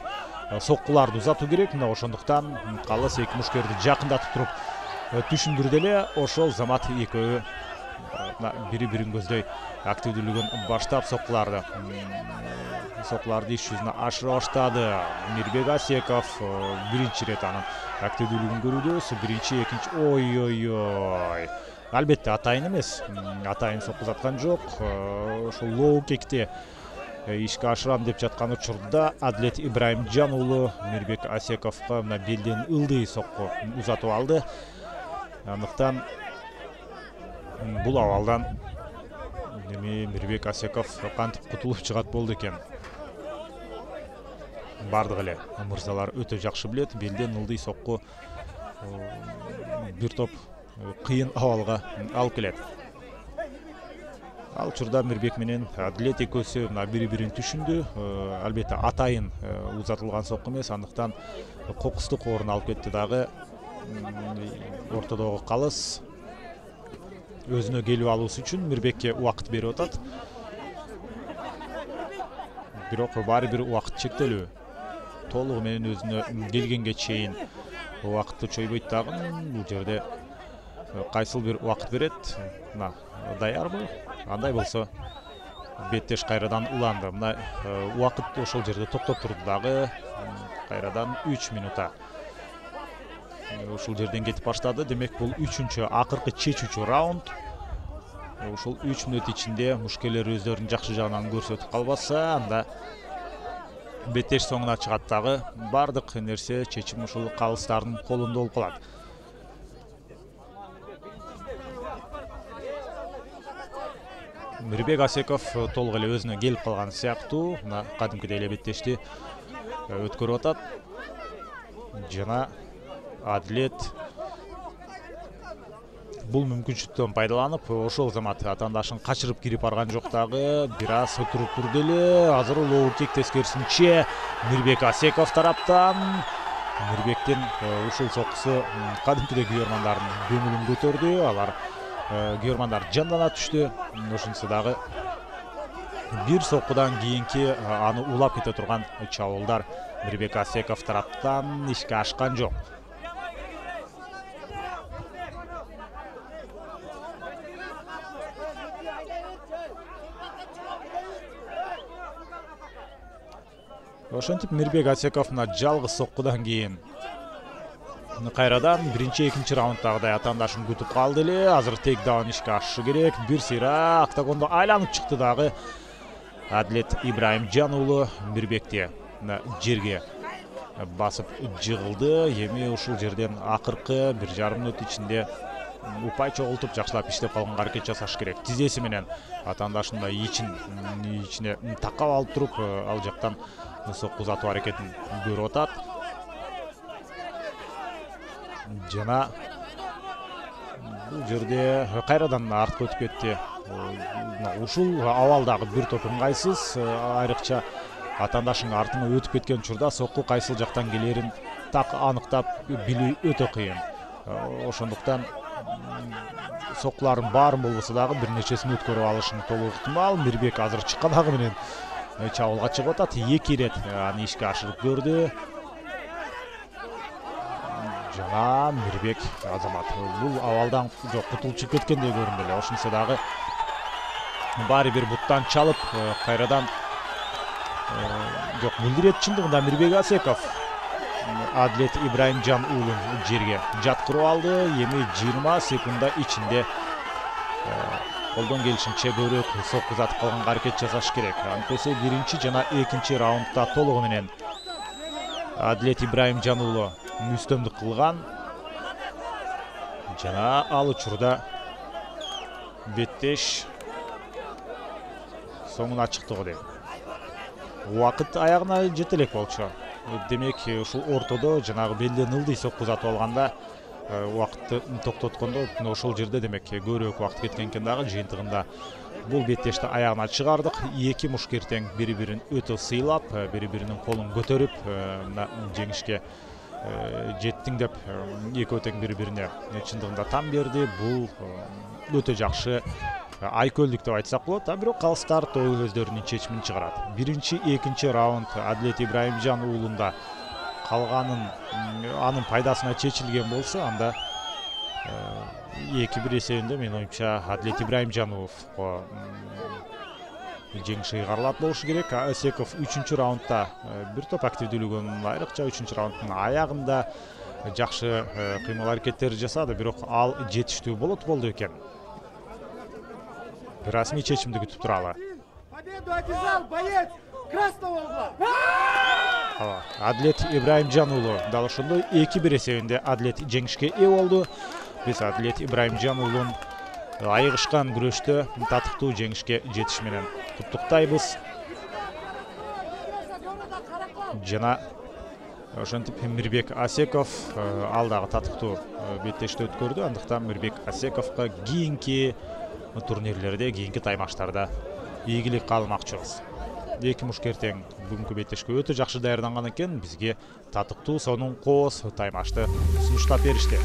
соккуларды узатуу керек. Мына ошондуктан Калыс эки мушкерди жакындатып туруп түшүндүрдү эле. Ошол замат экөө бири-бирин көздөй активдүүлүгүн баштап соккуларды иш жүзүнө ашыра баштады. Мирбек Асеков биринчи ирет анын активдүүлүгүн көрүүбүз. Биринчи, экинчи ой. Албетте атайын эмес. Атайын соккузаткан жок. Ошол лоу кекти ишке ашырам деп жаткан учурда Адлет Ибраимжан уулу Мирбек Асековго мына белден ылдый сокку узатып алды. Андыктан бул абалдан эми Мирбек Асеков кантип кутулуп чыгат болду экен. Бардык эле мырзалар өтө жакшы билет. Белден ылдый сокку бир топ кыйын абалга алып келет. Ал учурда Мирбек менен Адлет экөөсү мына бири-бирин түшүндү. Албетте атайын узатылган сокку эмес, андыктан кокустук орун алып кетти дагы. Ортодогу Калыс өзүнө келип алуусу үчүн Мирбекке убакыт берип атат. Бирок баары бир убакыт чектелүү. Толугу менен өзүнө келгенге чейин убакытты чойбойт дагы. Бул жерде кайсыл бир убакыт берет. Мына даярбы? Андай болсо беттеш кайрадан уланды. Мына убакыт ошол жерде токтоп турду дагы. Кайрадан 3 минута. Ушул жерден кетип баштады. Демек бул 3-чү акыркы чечүүчү раунд. Ушул 3 мүнөт ичинде мушкерлер өздөрүнүн жакшы жагынан көрсөтүп калбаса, анда беттеш соңуна чыгат дагы. Бардык нерсе чечим ушул Калыстардын колунда болуп калат. Мирбек Асеков толук эле өзүнө келип калган сыяктуу. Мына кадимкидей эле беттешти өткөрүп атат. Жана Адлет бул мүмкүнчүлүктөн пайдаланып, ошол замат атаандашын качырып кирип барган жок дагы. Бир аз отуруп турду эле. Азыр лоу кик тескерисинче Мирбек Асеков тараптан. Мирбектин ушул соккусу кадимкидей күйөрмандардын көңүлүн көтөрдү. Алар күйөрмандар жандана түштү. Ошонусу дагы бир соккудан кийинки аны улап кете турган чабуулдар Мирбек Асеков тараптан ишке ашкан жок. Ошентип Мирбек Асеков мына жалгыз соккудан кийин кайрадан биринчи, экинчи раунддагыдай атаандашын күтүп калды эле. Азыр тейкдаун ишке ашышы керек. Бир сыйра октагондо айланып чыкты дагы. Адлет Ибраимжан уулу Мирбекти жерге басып жыгылды. Эми ушул жерден акыркы 1,5 мүнөт ичинде упай чогултуп жакшылап иштеп калганга аракет жасаш керек. Тизеси менен атаандашын да ичине такап алып туруп, ал жактан сокку узатуу аракетин көрүп атат. Жана бул жерде кайрадан артка өтүп кетти. Ушул абалдагы бир топ ыңгайсыз, айрыкча атаандашын артына өтүп кеткен учурда сокку кайсыл жактан келерин так аныктап билүү өтө кыйын. Ошондуктан соккулардын баарын болбосо дагы бир нечесин өткөрүп алышың толук ыктымал. Мирбек азыр чыкканагы менен чабуулга чыгып атат. 2 ирет аны ишке ашырып көрдү. Жана Мирбек Азамат бул абалдан жок кутулуп чыгып кеткендей көрүндү эле. Ошентсе дагы баары бир буттан чалып кайрадан жок бул ирет чындыгында Мирбек Асеков Адлет Ибраимжан уулун жерге жаткырып алды. Эми 20 секунда ичинде колдон келишинче көбүрөөк сокку узатып калганга аракет жасаш керек. Антесе биринчи жана экинчи раундда толугу менен Адлет Ибраимжан уулу үстөмдүк кылган. Жана ал учурда беттеш соңуна чыктыгы дейм. Убакыт аягына жете элек болчу. Демек ушул ортодо жанагы белден ылдый сокку узатып алганда убакытты токтоткондо ошол жерде демек көбүрөөк убакыт кеткен экен дагы. Жыйынтыгында бул беттешти аягына чыгардык. Эки мушкер тең бири-бирин өтө сыйлап, бири-биринин колун көтөрүп жеңишке жеттиң деп экөө тең бири-бирине чындыгында там берди. Бул өтө жакшы айкөлдүк деп айтсак болот. Бирок калыстар өздөрүнүн чечимин чыгарат. Биринчи, экинчи раунд Адлет Ибраимжан уулунда калганын анын пайдасына чечилген болсо, анда 2-1 эсебинде менин оюмча Адлет Ибраимжан уулу жеңиш ыйгарылат болушу керек. Асеков 3-чү раундда бир топ активдүүлүгүн айрыкча 3-чү раунддун аягында жакшы кыймыл аракеттер жасады, бирок ал жетиштүү болду экен. Расмий чечимди күтүп туралы. Победу одержал боец красного угла. Адлет Ибраимжан уулу дал ошондой 2-1 эсебинде Адлет жеңишке ээ болду. Биз Адлет Ибраимжан уулун айыгышкан күрөштө татыктуу жеңишке жетиш менен куттуктайбыз. Жана ошентип Мирбек Асеков ал дагы татыктуу беттешти өткөрдү. Андыктан Мирбек Асековго кийинки турнирлерде, кийинки таймаштарда ийгилик каалмакчыбыз. Эки мушкер тең бүгүнкү беттешке өтө жакшы даярданган экен. Бизге татыктуу сонун кооз таймашты сунуштап беришти.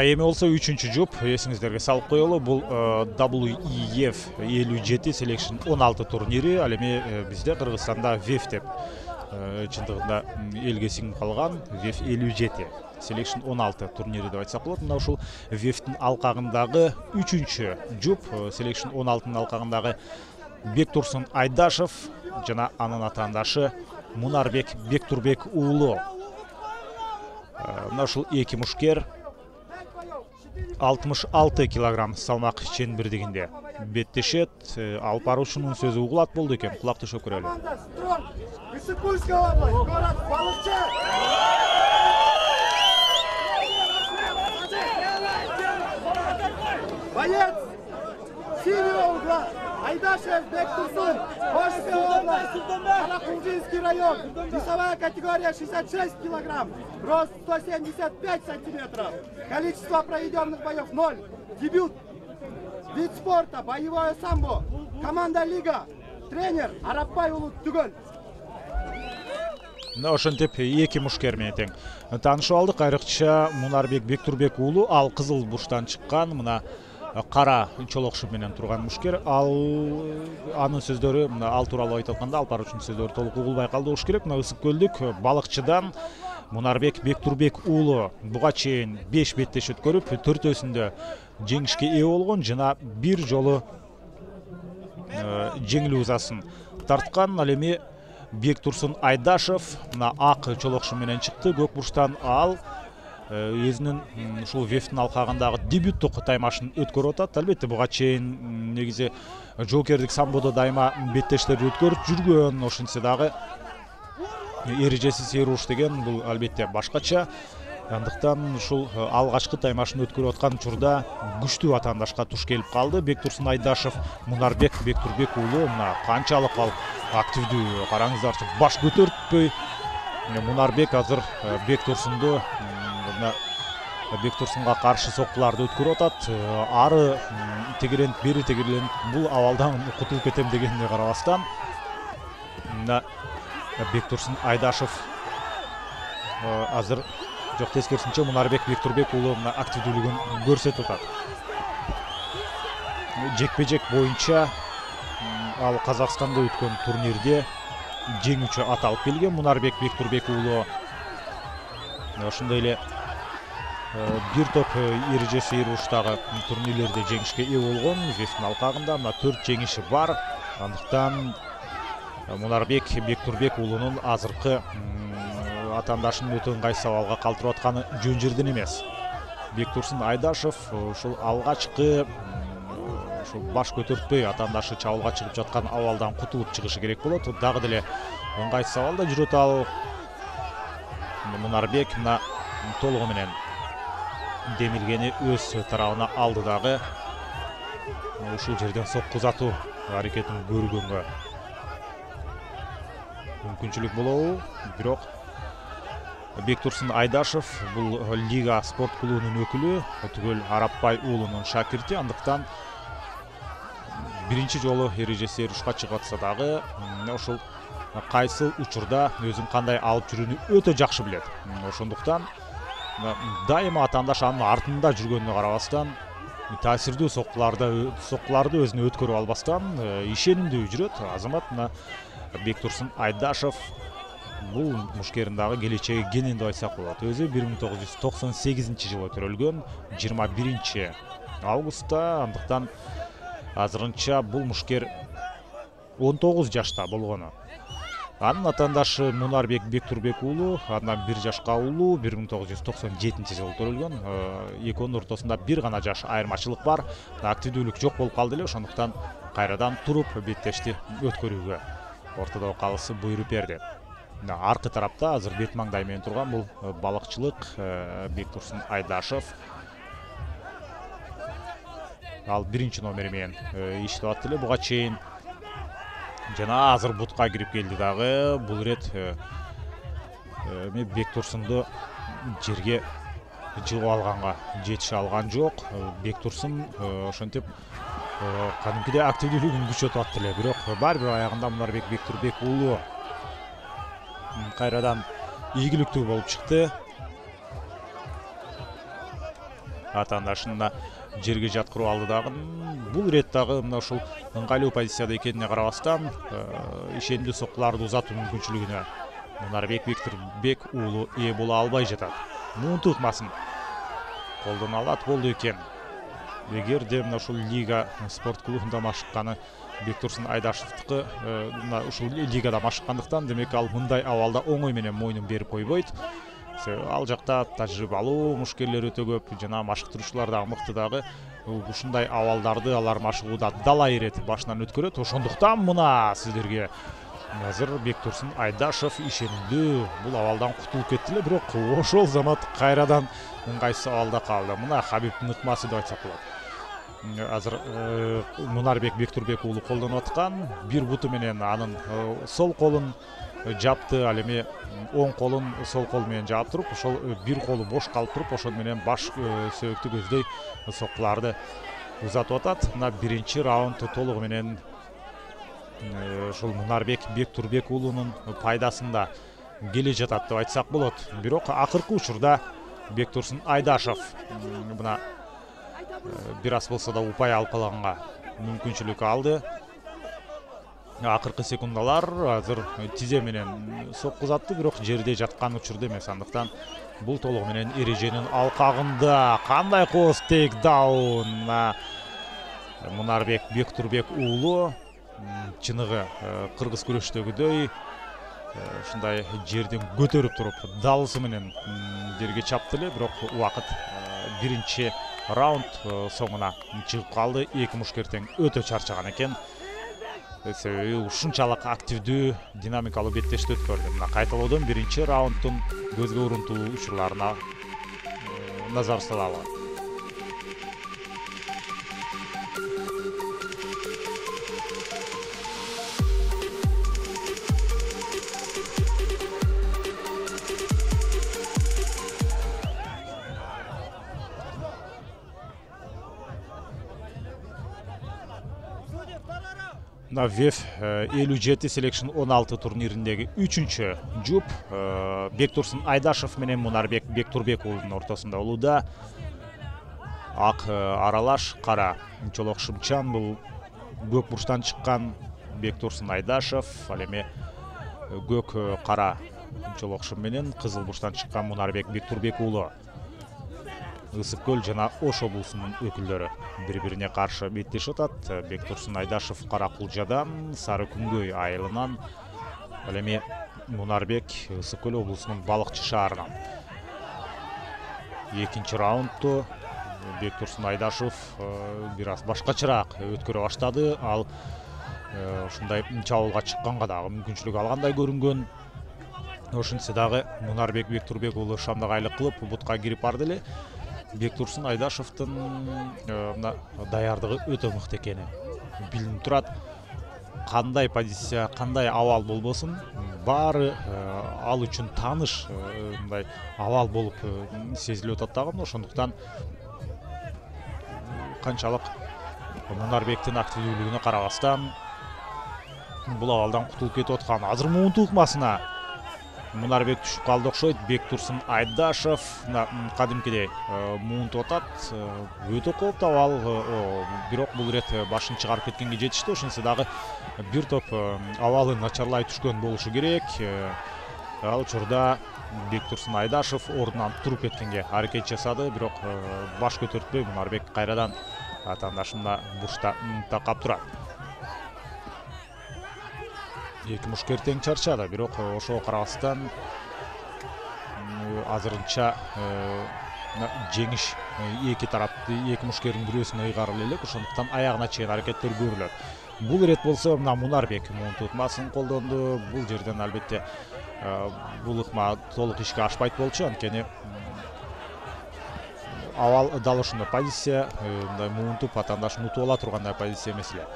Эми болсо 3-чү жуп эсиңиздерге салып коелу. Бул WEF 57 Selection 16 турнири. Ал эми бизде Кыргызстанда WEF деп чындыгында элге сиңип калган WEF 57 Selection 16 турнири деп айтсак болот. Мына ушул WEF-тин алкагындагы 3-чү жуп Selection 16-нын алкагындагы Бектурсун Айдашев жана анын атаандашы Мунарбек Бектурбек уулу. Мына ушул эки мушкер 66 килограмм салмак ченбирдигинде беттешет. Алып баруучунун сөзү угулат болду экен. Кулак төшөп көрөлү. Исыкульская область, город Балыкчы. Боец синего угла Айдашев Бектурсун, Ошская область, Каракулжинский район, весовая категория 66 килограмм, рост 175 сантиметров, количество проведенных боев 0, дебют, вид спорта, боевое самбо, команда лига, тренер Арапбай Улут Түгөл. Ошентип эки мушкер менен тең таанышып алдык. Айрыкча Мунарбек Бектурбек уулу, ал кызыл бурчтан чыккан, мына кара чолокшуп менен турган мушкер. Анын сөздөрү, ал тууралуу айтып атканда, алып баруучунун сөздөрү толук угулбай калды болуш керек. Мына ысык көлдүк балыкчыдан Мунарбек Бектурбек уулу буга чейин 5 беттеш өткөрүп, 4-өсүндө жеңишке ээ болгон жана бир жолу жеңил узасын тарткан. Ал эми Бектурсун Айдашев мына ак чолокшу менен чыкты. Көк бурчтан ал өзүнүн ушул WEF-тин алкагындагы дебюттук таймашын өткөрүп атат. Албетте буга чейин негизи жоокердик самбодо дайыма беттештерди өткөрүп жүргөн. Ошентсе дагы эрежесиз эруш деген бул албетте башкача. Андыктан ушул алгачкы таймашын өткөрүп аткан учурда күчтүү атаандашка туш келип калды. Бектурсун Айдашев, Мунарбек Бектурбек уулу мына канчалык ал активдүү, караңыздарчы, баш көтөртпөй. Мунарбек азыр Бектурсунду мына Бектурсунга каршы соккуларды өткөрүп атат. Ары тегерент, бери тегерент, бул абалдан кутулуп кетем дегенине карабастан мына Бектурсун Айдашев азыр жок, тескерисинче Мунарбек Бектурбек уулу мына активдүүлүгүн көрсөтүп атат. Жекпе-жек боюнча ал Казакстанда өткөн турнирде жеңүүчү аталып келген Мунарбек Бектурбек уулу. Ошондой эле бир топ эрежеси уруштагы турнирлерде жеңишке ээ болгон. Известин алкагында мына 4 жеңиши бар. Андыктан Мунарбек Бектурбек уулунун азыркы атаандашын өтө ыңгайсыз сабалга калтырып атканы жөн жерден эмес. Бектурсун Айдашев ушул алгачкы ушул баш көтөртпөй атаандашы чабуулга чыгып жаткан абалдан кутулуп чыгышы керек болот. Дагы деле ыңгайсыз абалда жүрөт ал. Мунарбек мына толугу менен демилгени өз тарабына алды дагы. Ушул жерден сокку узатуу аракетин көргөнгө мүмкүнчүлүк болобу? Бирок Бектурсун Айдашев бул Лига спорт клубунун өкүлү, түгөл Арапбай уулунун шакирти. Андыктан биринчи жолу эрежеси урушка чыгып атса дагы ошол кайсыл учурда өзүн кандай алып жүрүүнү өтө жакшы билет. Ошондуктан дайыма атаандаш анын артында жүргөнүнө карабастан таасирдүү соккуларды өзүнө өткөрүп албастан ишенимдүү жүрөт. Азамат мына Бектурсун Айдашев бул мушкердин дагы келечеги кенен деп айтсак болот. Өзү 1998-жылы төрөлгөн, 21 августта. Андыктан азырынча бул мушкер 19 жашта болгону. Анын атаандашы Мунарбек Бектурбек уулу андан 1 жашка улуу, 1997-жылы төрөлгөн. Экөөнүн ортосунда бир гана жаш айырмачылык бар. Активдүүлүк жок болуп калды эле, ошондуктан кайрадан туруп беттешти өткөрүүгө ортодо калысы буйруп берди. Аркы тарапта азыр бет маңдай менен турган бул балыкчылык Бектурсун Айдашев. Ал биринчи номери менен иштеп атты эле буга чейин. Жана азыр бутка кирип келди дагы. Бул ирет Бектурсунду жерге жыгып алганга жетише алган жок. Бектурсун ошентип кадимкидей активдүүлүгүн күчөтүп атты эле. Бирок баары бир аягында Мунарбек Бектурбек уулу кайрадан ийгиликтүү болуп чыкты. Атаандашын жерге жаткырып алды дагы. Бул ирет дагы мына ушул ыңгайлуу позицияда экенине карабастан ишенимдүү соккуларды узатуу мүмкүнчүлүгүнө Мунарбек Бектурбек уулу ээ боло албай жатат. Муунту ыкмасын колдоно алат болду экен. Эгерде мына ушул Лига спорт клубунда машыкканы Бектурсун Айдашевдики ушул лигада машыккандыктан, демек ал мындай абалда оңой менен мойнун берип койбойт. Ал жакта тажрыйбалуу мушкерлер өтө көп, жана машыктыруучулар дагы мыкты дагы. Ушундай абалдарды алар машыгууда дала иретип башынан өткөрөт. Ошондуктан мына сиздерге азыр Бектурсун Айдашев ишенимдүү бул абалдан кутулуп кетти эле, бирок ошол замат кайрадан ыңгайсыз абалда калды. Мына Хабибтин ыкмасы деп айтсак болот. Азыр Мунарбек Бектурбек уулу колдонуп аткан бир буту менен анын сол колун жапты, ал эми оң колун сол кол менен жаап туруп, ошол бир колу бош калып туруп, ошол менен баш сөөктү көздөй соккуларды узатып атат. Мына биринчи раунд толугу менен ушул Мунарбек Бектурбек уулунун пайдасында келе жатат деп айтсак болот. Бирок акыркы учурда Бектурсун Айдашев мына бир аз болсо да упай алып калганга мүмкүнчүлүк алды. Акыркы секундалар азыр тизе менен сокку узатты, бирок жерде жаткан учурда эмес. Андыктан бул толугу менен эреженин алкагында. Кандай кооз тейкдаун Мунарбек Бектурбек уулу чыныгы кыргыз күрөштөгүдөй ушундай жерден көтөрүп туруп далысы менен жерге чапты эле, бирок убакыт биринчи раунд соңуна чыгып калды. Эки мушкер тең өтө чарчаган экен. Себеби ушунчалык активдүү, динамикалуу беттешти өткөрдү. Мына кайталоодон биринчи раунддун көзгө урунтуу учурларына назар салалы. Мына ВЕФ 57 Selection 16 турнириндеги 3-чү жуп Бектурсун Айдашев менен Мунарбек Бектурбек уулунун ортосунда болууда. Ак аралаш кара чолок шымчан, бул көк бурчтан чыккан Бектурсун Айдашев, ал эми көк кара чолок шым менен кызыл бурчтан чыккан Мунарбек Бектурбек уулу. Ысык көл жана Ош облусунун өкүлдөрү бири-бирине каршы беттешип атат. Бектурсун Айдашев Кара Кулжадан, Сары Күнгөй айылынан, ал эми Мунарбек Ысык көл облусунун Балыкчы шаарынан. Экинчи раундту Бектурсун Айдашев бир аз башкачараак өткөрө баштады. Ал ушундай чабуулга чыкканга дагы мүмкүнчүлүк алгандай көрүнгөн. Ошентсе дагы Мунарбек Бектурбек уулу шамдагайлык кылып бутка кирип барды эле. Бектурсун Айдашевдин мына даярдыгы өтө мыкты экени билинип турат. Кандай позиция, кандай абал болбосун, баары ал үчүн тааныш мындай абал болуп сезилип атат дагы. Ошондуктан канчалык Мунарбектин активдүүлүгүнө карабастан бул абалдан кутулуп кетип аткан. Азыр муунту ыкмасына Мунарбек түшүп калды окшойт. Бектурсун Айдашев кадимкидей муунтуп атат. Өтө кооптуу абал, бирок бул ирет башын чыгарып кеткенге жетишти. Ошентсе дагы бир топ абалы начарлай түшкөн болушу керек. Ал учурда Бектурсун Айдашев ордунан туруп кеткенге аракет жасады, бирок баш көтөртпөй Мунарбек кайрадан атаандашында бурчта такап турат. Эки мушкер тең чарчады, бирок ошого карабастан азырынча жеңиш эки тарапты, эки мушкердин бирөөсүнө ыйгарылып элек. Ошондуктан аягына чейин аракеттер көрүлөт. Бул ирет болсо мына Мунарбек муунту ыкмасын колдонду. Бул жерден албетте бул ыкма толук ишке ашпайт болчу, анткени абал дал ошондой позиция, мындай муунтуп атаандашын утуп ала тургандай позиция эмес эле.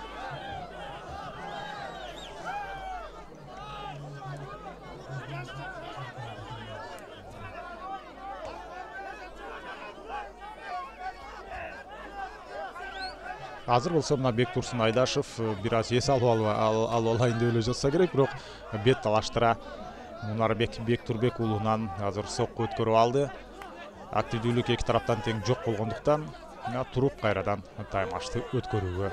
Азыр болсо мына Бектурсун Айдашев бир аз эс алып алайын деп эле жатса керек, бирок бет талаштыра Мунарбек Бектурбек уулунан азыр сокку өткөрүп алды. Активдүүлүк эки тараптан тең жок болгондуктан туруп кайрадан таймашты өткөрүүгө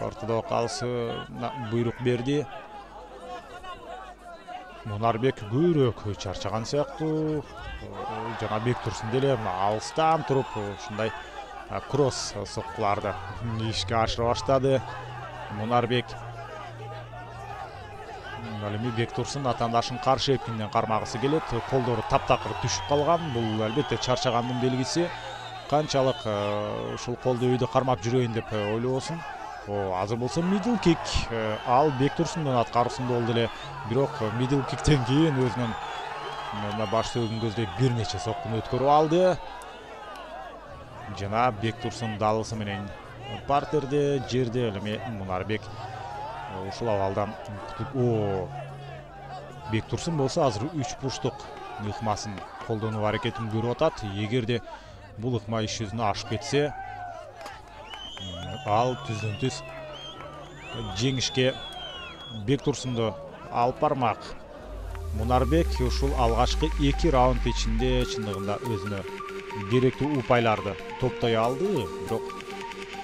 ортодо калысы буйрук берди. Мунарбек көбүрөөк чарчаган сыяктуу, жана Бектурсун деле алыстан туруп ушундай кросс соккуларды ишке ашыра баштады. Мунарбек ал эми Бектурсун атаандашын каршы эпкинден кармагысы келет. Колдору таптакыр түшүп калган. Бул албетте чарчагандын белгиси. Канчалык ушул колду үйдө кармап жүрөйүн деп ойлобосун. Азыр болсо middle kick ал Бектурсундун аткаруусунда болду эле. Бирок middle kickтен кийин өзүнүн баш сөөгүн көздөй бир нече соккуну өткөрүп алды. Жана Бектурсун далысы менен партерде жерде ал эми Мунарбек ушул абалдан Бектурсун болсо азыр 3 бурчтук ыкмасын колдонуу аракетин көрүп атат. Эгерде бул ыкма иш жүзүнө ашып кетсе, ал түздөн түз жеңишке Бектурсунду алып бармак. Мунарбек ушул алгачкы 2 раунд ичинде чындыгында өзүнө керектүү упайларды топтой алды, бирок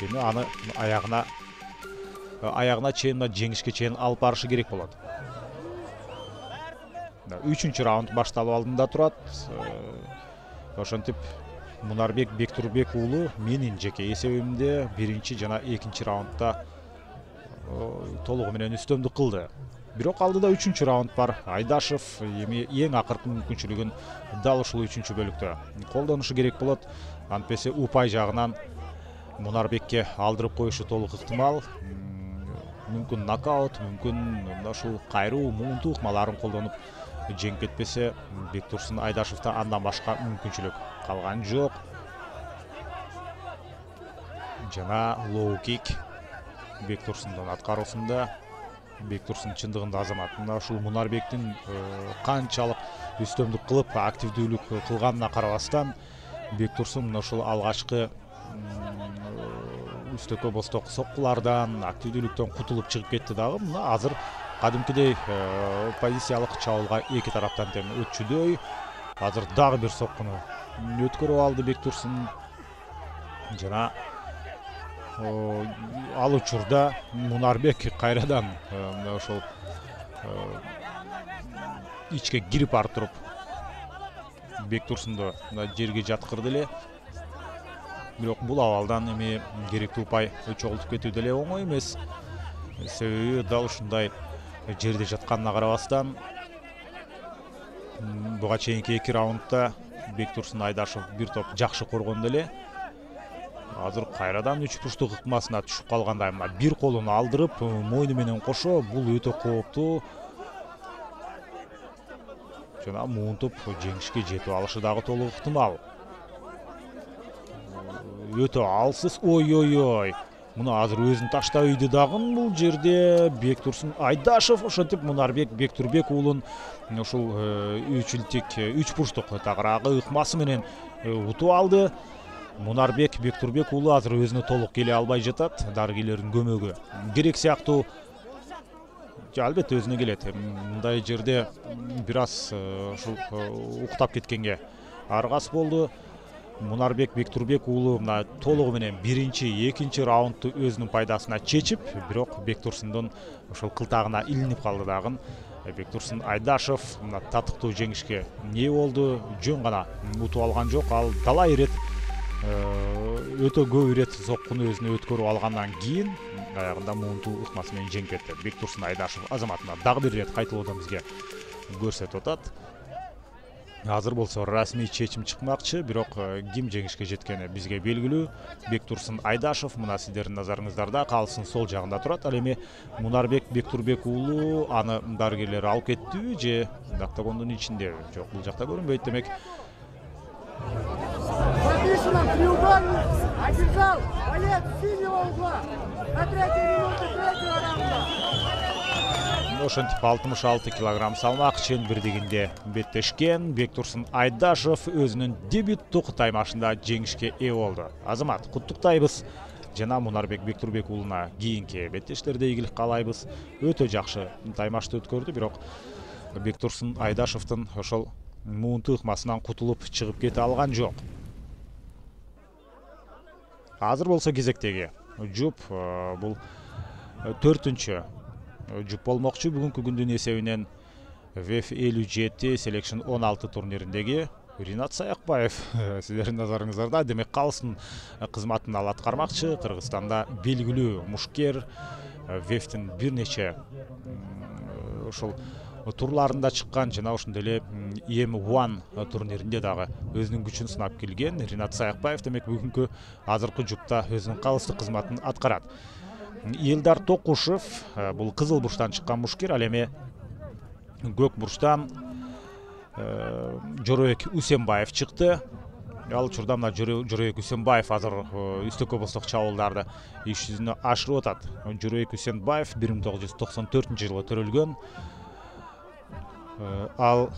эми аны аягына чейин жеңишке чейин алып барышы керек болот. 3-чү раунд башталып алдында турат. Ошентип Мунарбек Бектурбек уулу менин жеке эсебимде 1-чи жана 2-чи раундда толугу менен үстөмдүк кылды. Бирок алдыда 3-чү раунд бар. Айдашев эми эң акыркы мүмкүнчүлүгүн дал ушул 3-чү бөлүктө колдонушу керек болот. Антпесе упай жагынан Мунарбекке алдырып коюшу толук ыктымал. Мүмкүн нокаут, мүмкүн ушул кайруу, муунтуу ыкмаларын колдонуп жеңип кетпесе, Бектурсун Айдашевда андан башка мүмкүнчүлүк калган жок. жана лоу кик Бектурсундун аткаруусунда. Бектурсун чындыгында Азамат мына ушул Мунарбектин канчалык үстөмдүк кылып активдүүлүк кылганына карабастан Бектурсун мына ушул алгачкы үстөккө босток соккулардан активдүүлүктөн кутулуп чыгып кетти дагы. Мына азыр кадимкидей позициялык чабуулга эки тараптан тең өтчүдөй. Азыр дагы бир соккуну өткөрүп алды Бектурсун. Жана ал учурда Мунарбек кайрадан ошол ичке кирип барып туруп Бектурсунду жерге жаткырды эле. Бирок бул абалдан эми керектүү упай чогултуп кетүү деле оңой эмес. Себеби дал ушундай жерде жатканына карабастан буга чейинки эки раундда Бектурсун Айдашев бир топ жакшы коргондо эле. Азыр кайрадан үч бурчтук ыкмасына түшүп калгандай. Мына бир колун алдырып, мойну менен кошо бул өтө кооптуу. Жана муунтуп жеңишке жетип алышы дагы толук ыктымал. Өтө алсыз. Ой. Мына азыр өзүн таштап үйдү дагы бул жерде Бектурсун Айдашев. Ошентип Мунарбек Бектурбек уулун ушул үч бурчтук тагыраагы ыкмасы менен утуп алды. Мунарбек Бектурбек уулу азыр өзүнө толук келе албай жатат. Дарыгерлердин көмөгү керек сыяктуу. Албетте өзүнө келет. Мындай жерде бир аз ушул уктап кеткенге аргас болду. Мунарбек Бектурбек уулу мына толугу менен биринчи, экинчи раундду өзүнүн пайдасына чечип, бирок Бектурсундун ошол кылтагына илинип калды дагы. Бектурсун Айдашев мына татыктуу жеңишке ээ болду. Жөн гана утуп алган жок. Ал талай ирет өтө көп ирет соккуну өзүнө өткөрүп алгандан кийин аягында муунтуу ыкмасы менен жеңип кетти. Бектурсун Айдашев Азаматына дагы бир ирет кайталоодон бизге көрсөтүп атат. Азыр болсо расмий чечим чыкмакчы, бирок ким жеңишке жеткени бизге белгилүү. Бектурсун Айдашев мына сиздердин назарыңыздарда калыстын сол жагында турат. Ал эми Мунарбек Бектурбек уулу аны дарыгерлер алып кеттиби же октагондун ичинде? Жок, бул жакта көрүнбөйт. Демек Записано, треугольник, одержал, боец синего угла, на 3-й минуте 3-го раунда. Ошентип 66 килограмм салмак чен бирдигинде беттешкен Бектурсун Айдашев өзүнүн дебюттук таймашында жеңишке ээ болду. Азамат, куттуктайбыз. Жана Мунарбек Бектурбек уулуна кийинки беттештерде ийгилик каалайбыз. Өтө жакшы таймашты өткөрдү, бирок Бектурсун Айдашевдин ошол муунтуу ыкмасынан кутулуп чыгып кете алган жок. Азыр болсо кезектеги жуп бул 4-үнчү жуп болмокчу. Бүгүнкү күндүн эсебинен WEF 57 Selection 16 турнириндеги Ринат Саякбаев сиздердин назарыңыздарда. Демек калыстын кызматын ал аткармакчы. Кыргызстанда белгилүү мушкер, WEF-тин бир нече ошол турларында чыккан, жана ошондой эле EM1 турниринде дагы өзүнүн күчүн сынап келген Ринат Саякбаев демек бүгүнкү азыркы жупта өзүнүн калыстык кызматын аткарат. Элдар Токушев бул кызыл бурчтан чыккан мушкер, ал эми көк бурчтан Жоройек Усенбаев чыкты. Ал учурда мына Жоройек Усенбаев азыр үстөккө босток чабуулдарды иш жүзүнө ашырып атат. Жоройек Усенбаев 1994-жылы төрөлгөн. Ал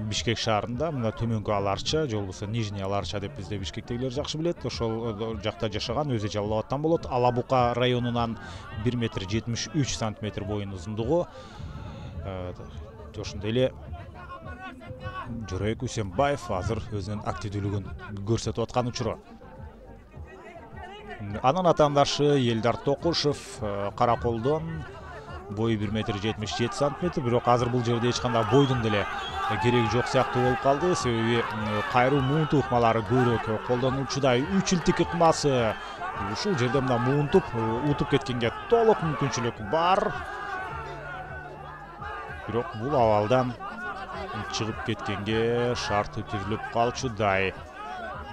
Бишкек шаарында, мына төмөнкү Аларча, же болбосо Нижний Аларча деп бизде бишкектегилер жакшы билет. Ошол жакта жашаган, өзү Жалал Абадтан болот. Алабука районунан 1,73 метр боюн узундугу. Ошондой эле Жоройек Усенбаев азыр өзүнүн активдүүлүгүн көрсөтүп аткан учуру. Анын атаандашы Элдар Токушев Караколдон, бою 1,77 метр, бирок азыр бул жерде эч кандай бойдун деле кереги жок сыяктуу болуп калды. Себеби кайруу муунтуу ыкмалары көбүрөөк колдонулчудай. 3 илтик ыкмасы ушул жерде мына муунтуп утуп кеткенге толук мүмкүнчүлүк бар. Бирок бул абалдан чыгып кеткенге шарты түзүлүп калчудай.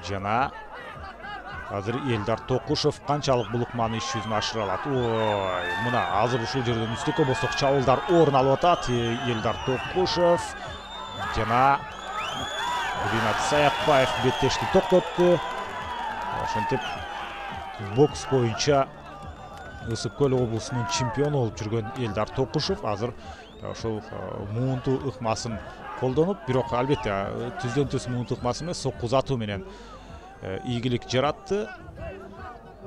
Жана азыр Элдар Токушев канчалык бул ыкманы иш жүзүнө ашыра алат. Ой, мына азыр ушул жерден үстөккө босток чабуулдар орун алып атат. Элдар Токушев жана Ринат Саякбаев беттешти токтотту. Ошентип бокс боюнча Ысык Көл облусунун чемпиону болуп жүргөн Элдар Токушев азыр ошол муунту ыкмасын колдонуп, бирок албетте түздөн түз муунту ыкмасы эмес, сокку узатуу менен ийгилик жаратты.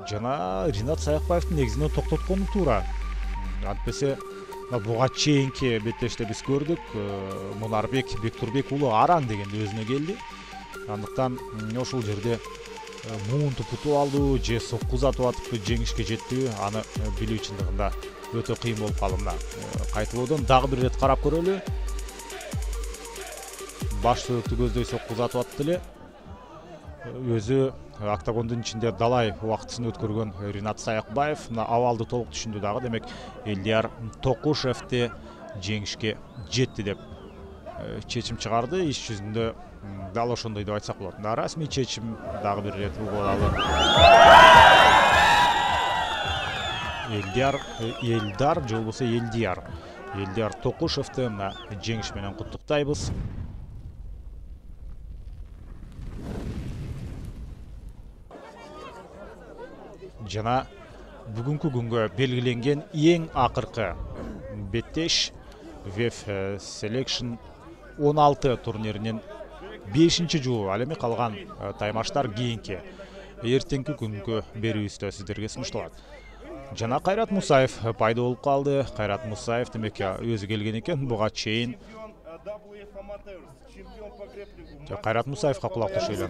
Жана Ринат Саякбаевдин негизинен токтоткону туура. Антпесе буга чейинки беттеште биз көрдүк, Мунарбек Бектурбек уулу араң дегенде өзүнө келди. Андыктан ошол жерде муунту путуп алды же сокку узатып атып жеңишке жеттиби, аны билүү чындыгында өтө кыйын болуп калды. Мына кайтылоодон дагы бир рет карап көрөлү. Баш сөөктү көздөй сокку узатып атты эле. Өзү октагондун ичинде далай убактысын өткөргөн Ринат Саякбаев мына абалды толук түшүндү дагы. Демек Элдар Токушевди жеңишке жетти деп чечим чыгарды. Иш жүзүндө дал ошондой деп айтсак болот. Расмий чечим дагы бир рет угуп алалы. Элдар же болбосо Элдар Токушевди мына жеңиш менен куттуктайбыз. Жана бүгүнкү күнгө белгиленген эң акыркы беттеш WEF Selection 16 турниринин 5-жолу. Ал эми калган таймаштар кийинки эртеңки күнгө берүүбүздө сиздерге сунушталат. Жана Кайрат Мусаев пайда болуп калды. Кайрат Мусаев демек өзү келген экен. Буга чейин Кайрат Мусаевга кулак түшөйлү.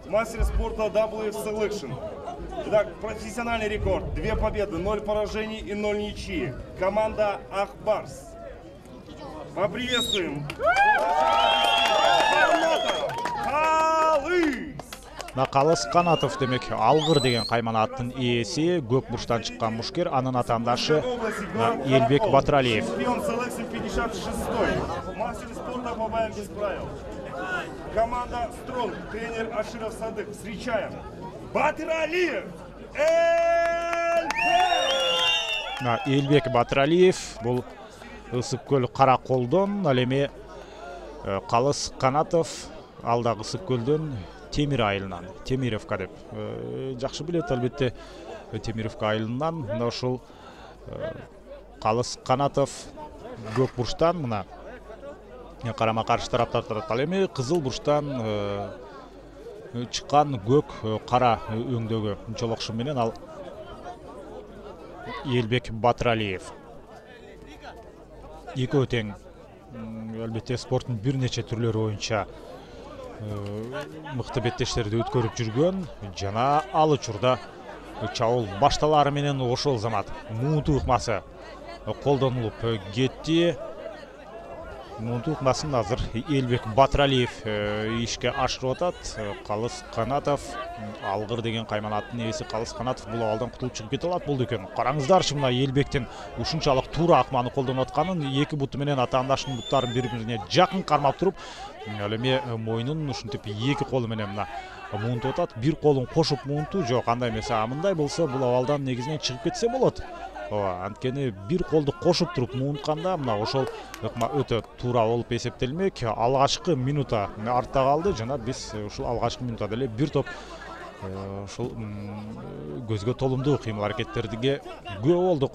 Мастер спорта WF Selection. Итак, профессиональный рекорд. 2 победы, 0 поражений и 0 ничьи. Команда Ахбарс. Поприветствуем. Калыс Канатов демек алгыр деген кайманаттын ээси, көк бурчтан чыккан мушкер, анын атаандашы Элбек Батыралиев. Чемпион Selection 56. Мастер спорта по боям без правил. Команда Стронг, тренер Аширов Садык. Встречаем Батыралиев Элбек Батыралиев бул Ысык Көл Кара Колдон, ал эми Калыс Канатов ал дагы Ысык Көлдөн Темир айылынан, Темировка деп жакшы билет албетте. Темировка айылынан мына ошол Калыс Канатов көк бурчтан мына карама каршы тараптар турат. Ал эми кызыл бурчтан чыккан көк кара өңдөгү жолокшу менен ал Элбек Батыралиев. Экөө тең албетте спорттун бир нече түрлөрү боюнча мыкты беттештерди өткөрүп жүргөн. Жана ал учурда чабуул башталары менен ошол замат муунту ыкмасы колдонулуп кетти. Муунту ыкмасын азыр Элбек Батыралиев ишке ашырып атат. Калыс Канатов алгыр деген кайманаттын ээси Калыс Канатов бул абалдан кутулуп чыгып кете алат болду экен. Караңыздарчы мына Элбектин ушунчалык туура акманы колдонуп атканын, эки буту менен атаандашынын буттарын бири-бирине жакын кармап туруп, ал эми мойнун ушинтип эки колу менен мына муунтуп атат. Бир колун кошуп муунту жок, андай эмес. Мындай болсо бул абалдан негизинен чыгып кетсе болот. Анткени бир колду кошуп туруп муунтканда мына ошол ыкма өтө туура болуп эсептелмек. Алгачкы минута артта калды. Жана биз ушул алгачкы минутада эле бир топ ушул көзгө толумдуу кыймыл аракеттерге күбө болдук.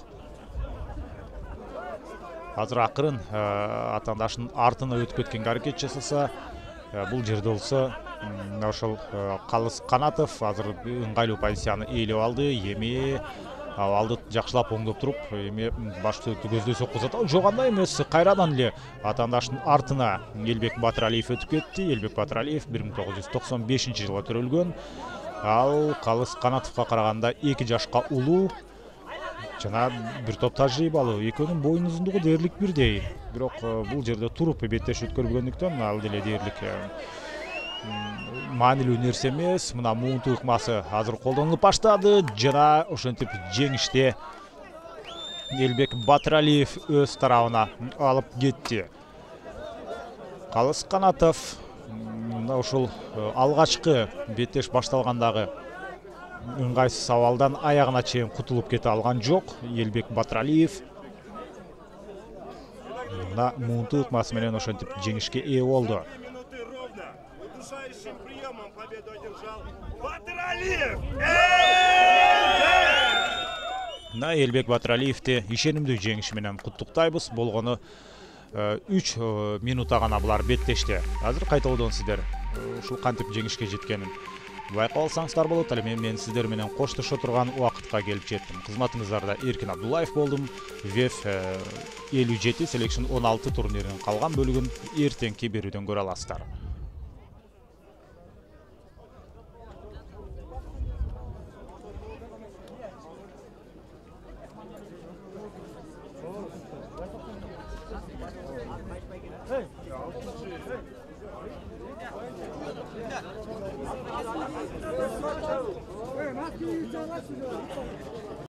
Азыр акырын атаандашынын артына өтүп кеткенге аракет жасаса, бул жерде болсо ошол Калыс Канатов азыр ыңгайлуу позицияны ээлеп алды. Эми абалды жакшылап оңдоп туруп, эми баш сөөктү көздөй сокку узатат. Жок, андай эмес. Кайрадан эле атаандашынын артына Элбек Батыралиев өтүп кетти. Элбек Батыралиев 1995-жылы төрөлгөн. Ал Калыс Канатовго караганда 2 жашка улуу. Жана бир топ тажрыйбалуу. Экөөнүн боюн узундугу дээрлик бирдей. Бирок бул жерде туруп беттеш өткөрбөгөндүктөн ал деле дээрлик маанилүү нерсе эмес. Мына муунту ыкмасы азыр колдонулуп баштады. Жана ошентип жеңиште Элбек Батыралиев өз тарабына алып кетти. Калыс Канатов мына ушул алгачкы беттеш башталгандагы ыңгайсыз абалдан аягына чейин кутулуп кете алган жок Элбек Батыралиев. Мына муунту ыкмасы менен ошентип жеңишке ээ болду. Удушающим приемом победу одержал Батыралиев! Элбек Батыралиевди ишенимдүү жеңиши менен куттуктайбыз. Болгону 3 минутта гана булар беттешти. Азыр кайталоодон сиздер ушул кантип жеңишке жеткенин байкап алсаңыздар болот. Ал эми мен сиздер менен коштошо турган убакытка келип жеттим. Кызматыңыздарда Эркин Абдуллаев болдум. ВЕФ 57 Selection 16 турниринин калган бөлүгүн эртеңки берүүдөн көрө аласыздар. Hey,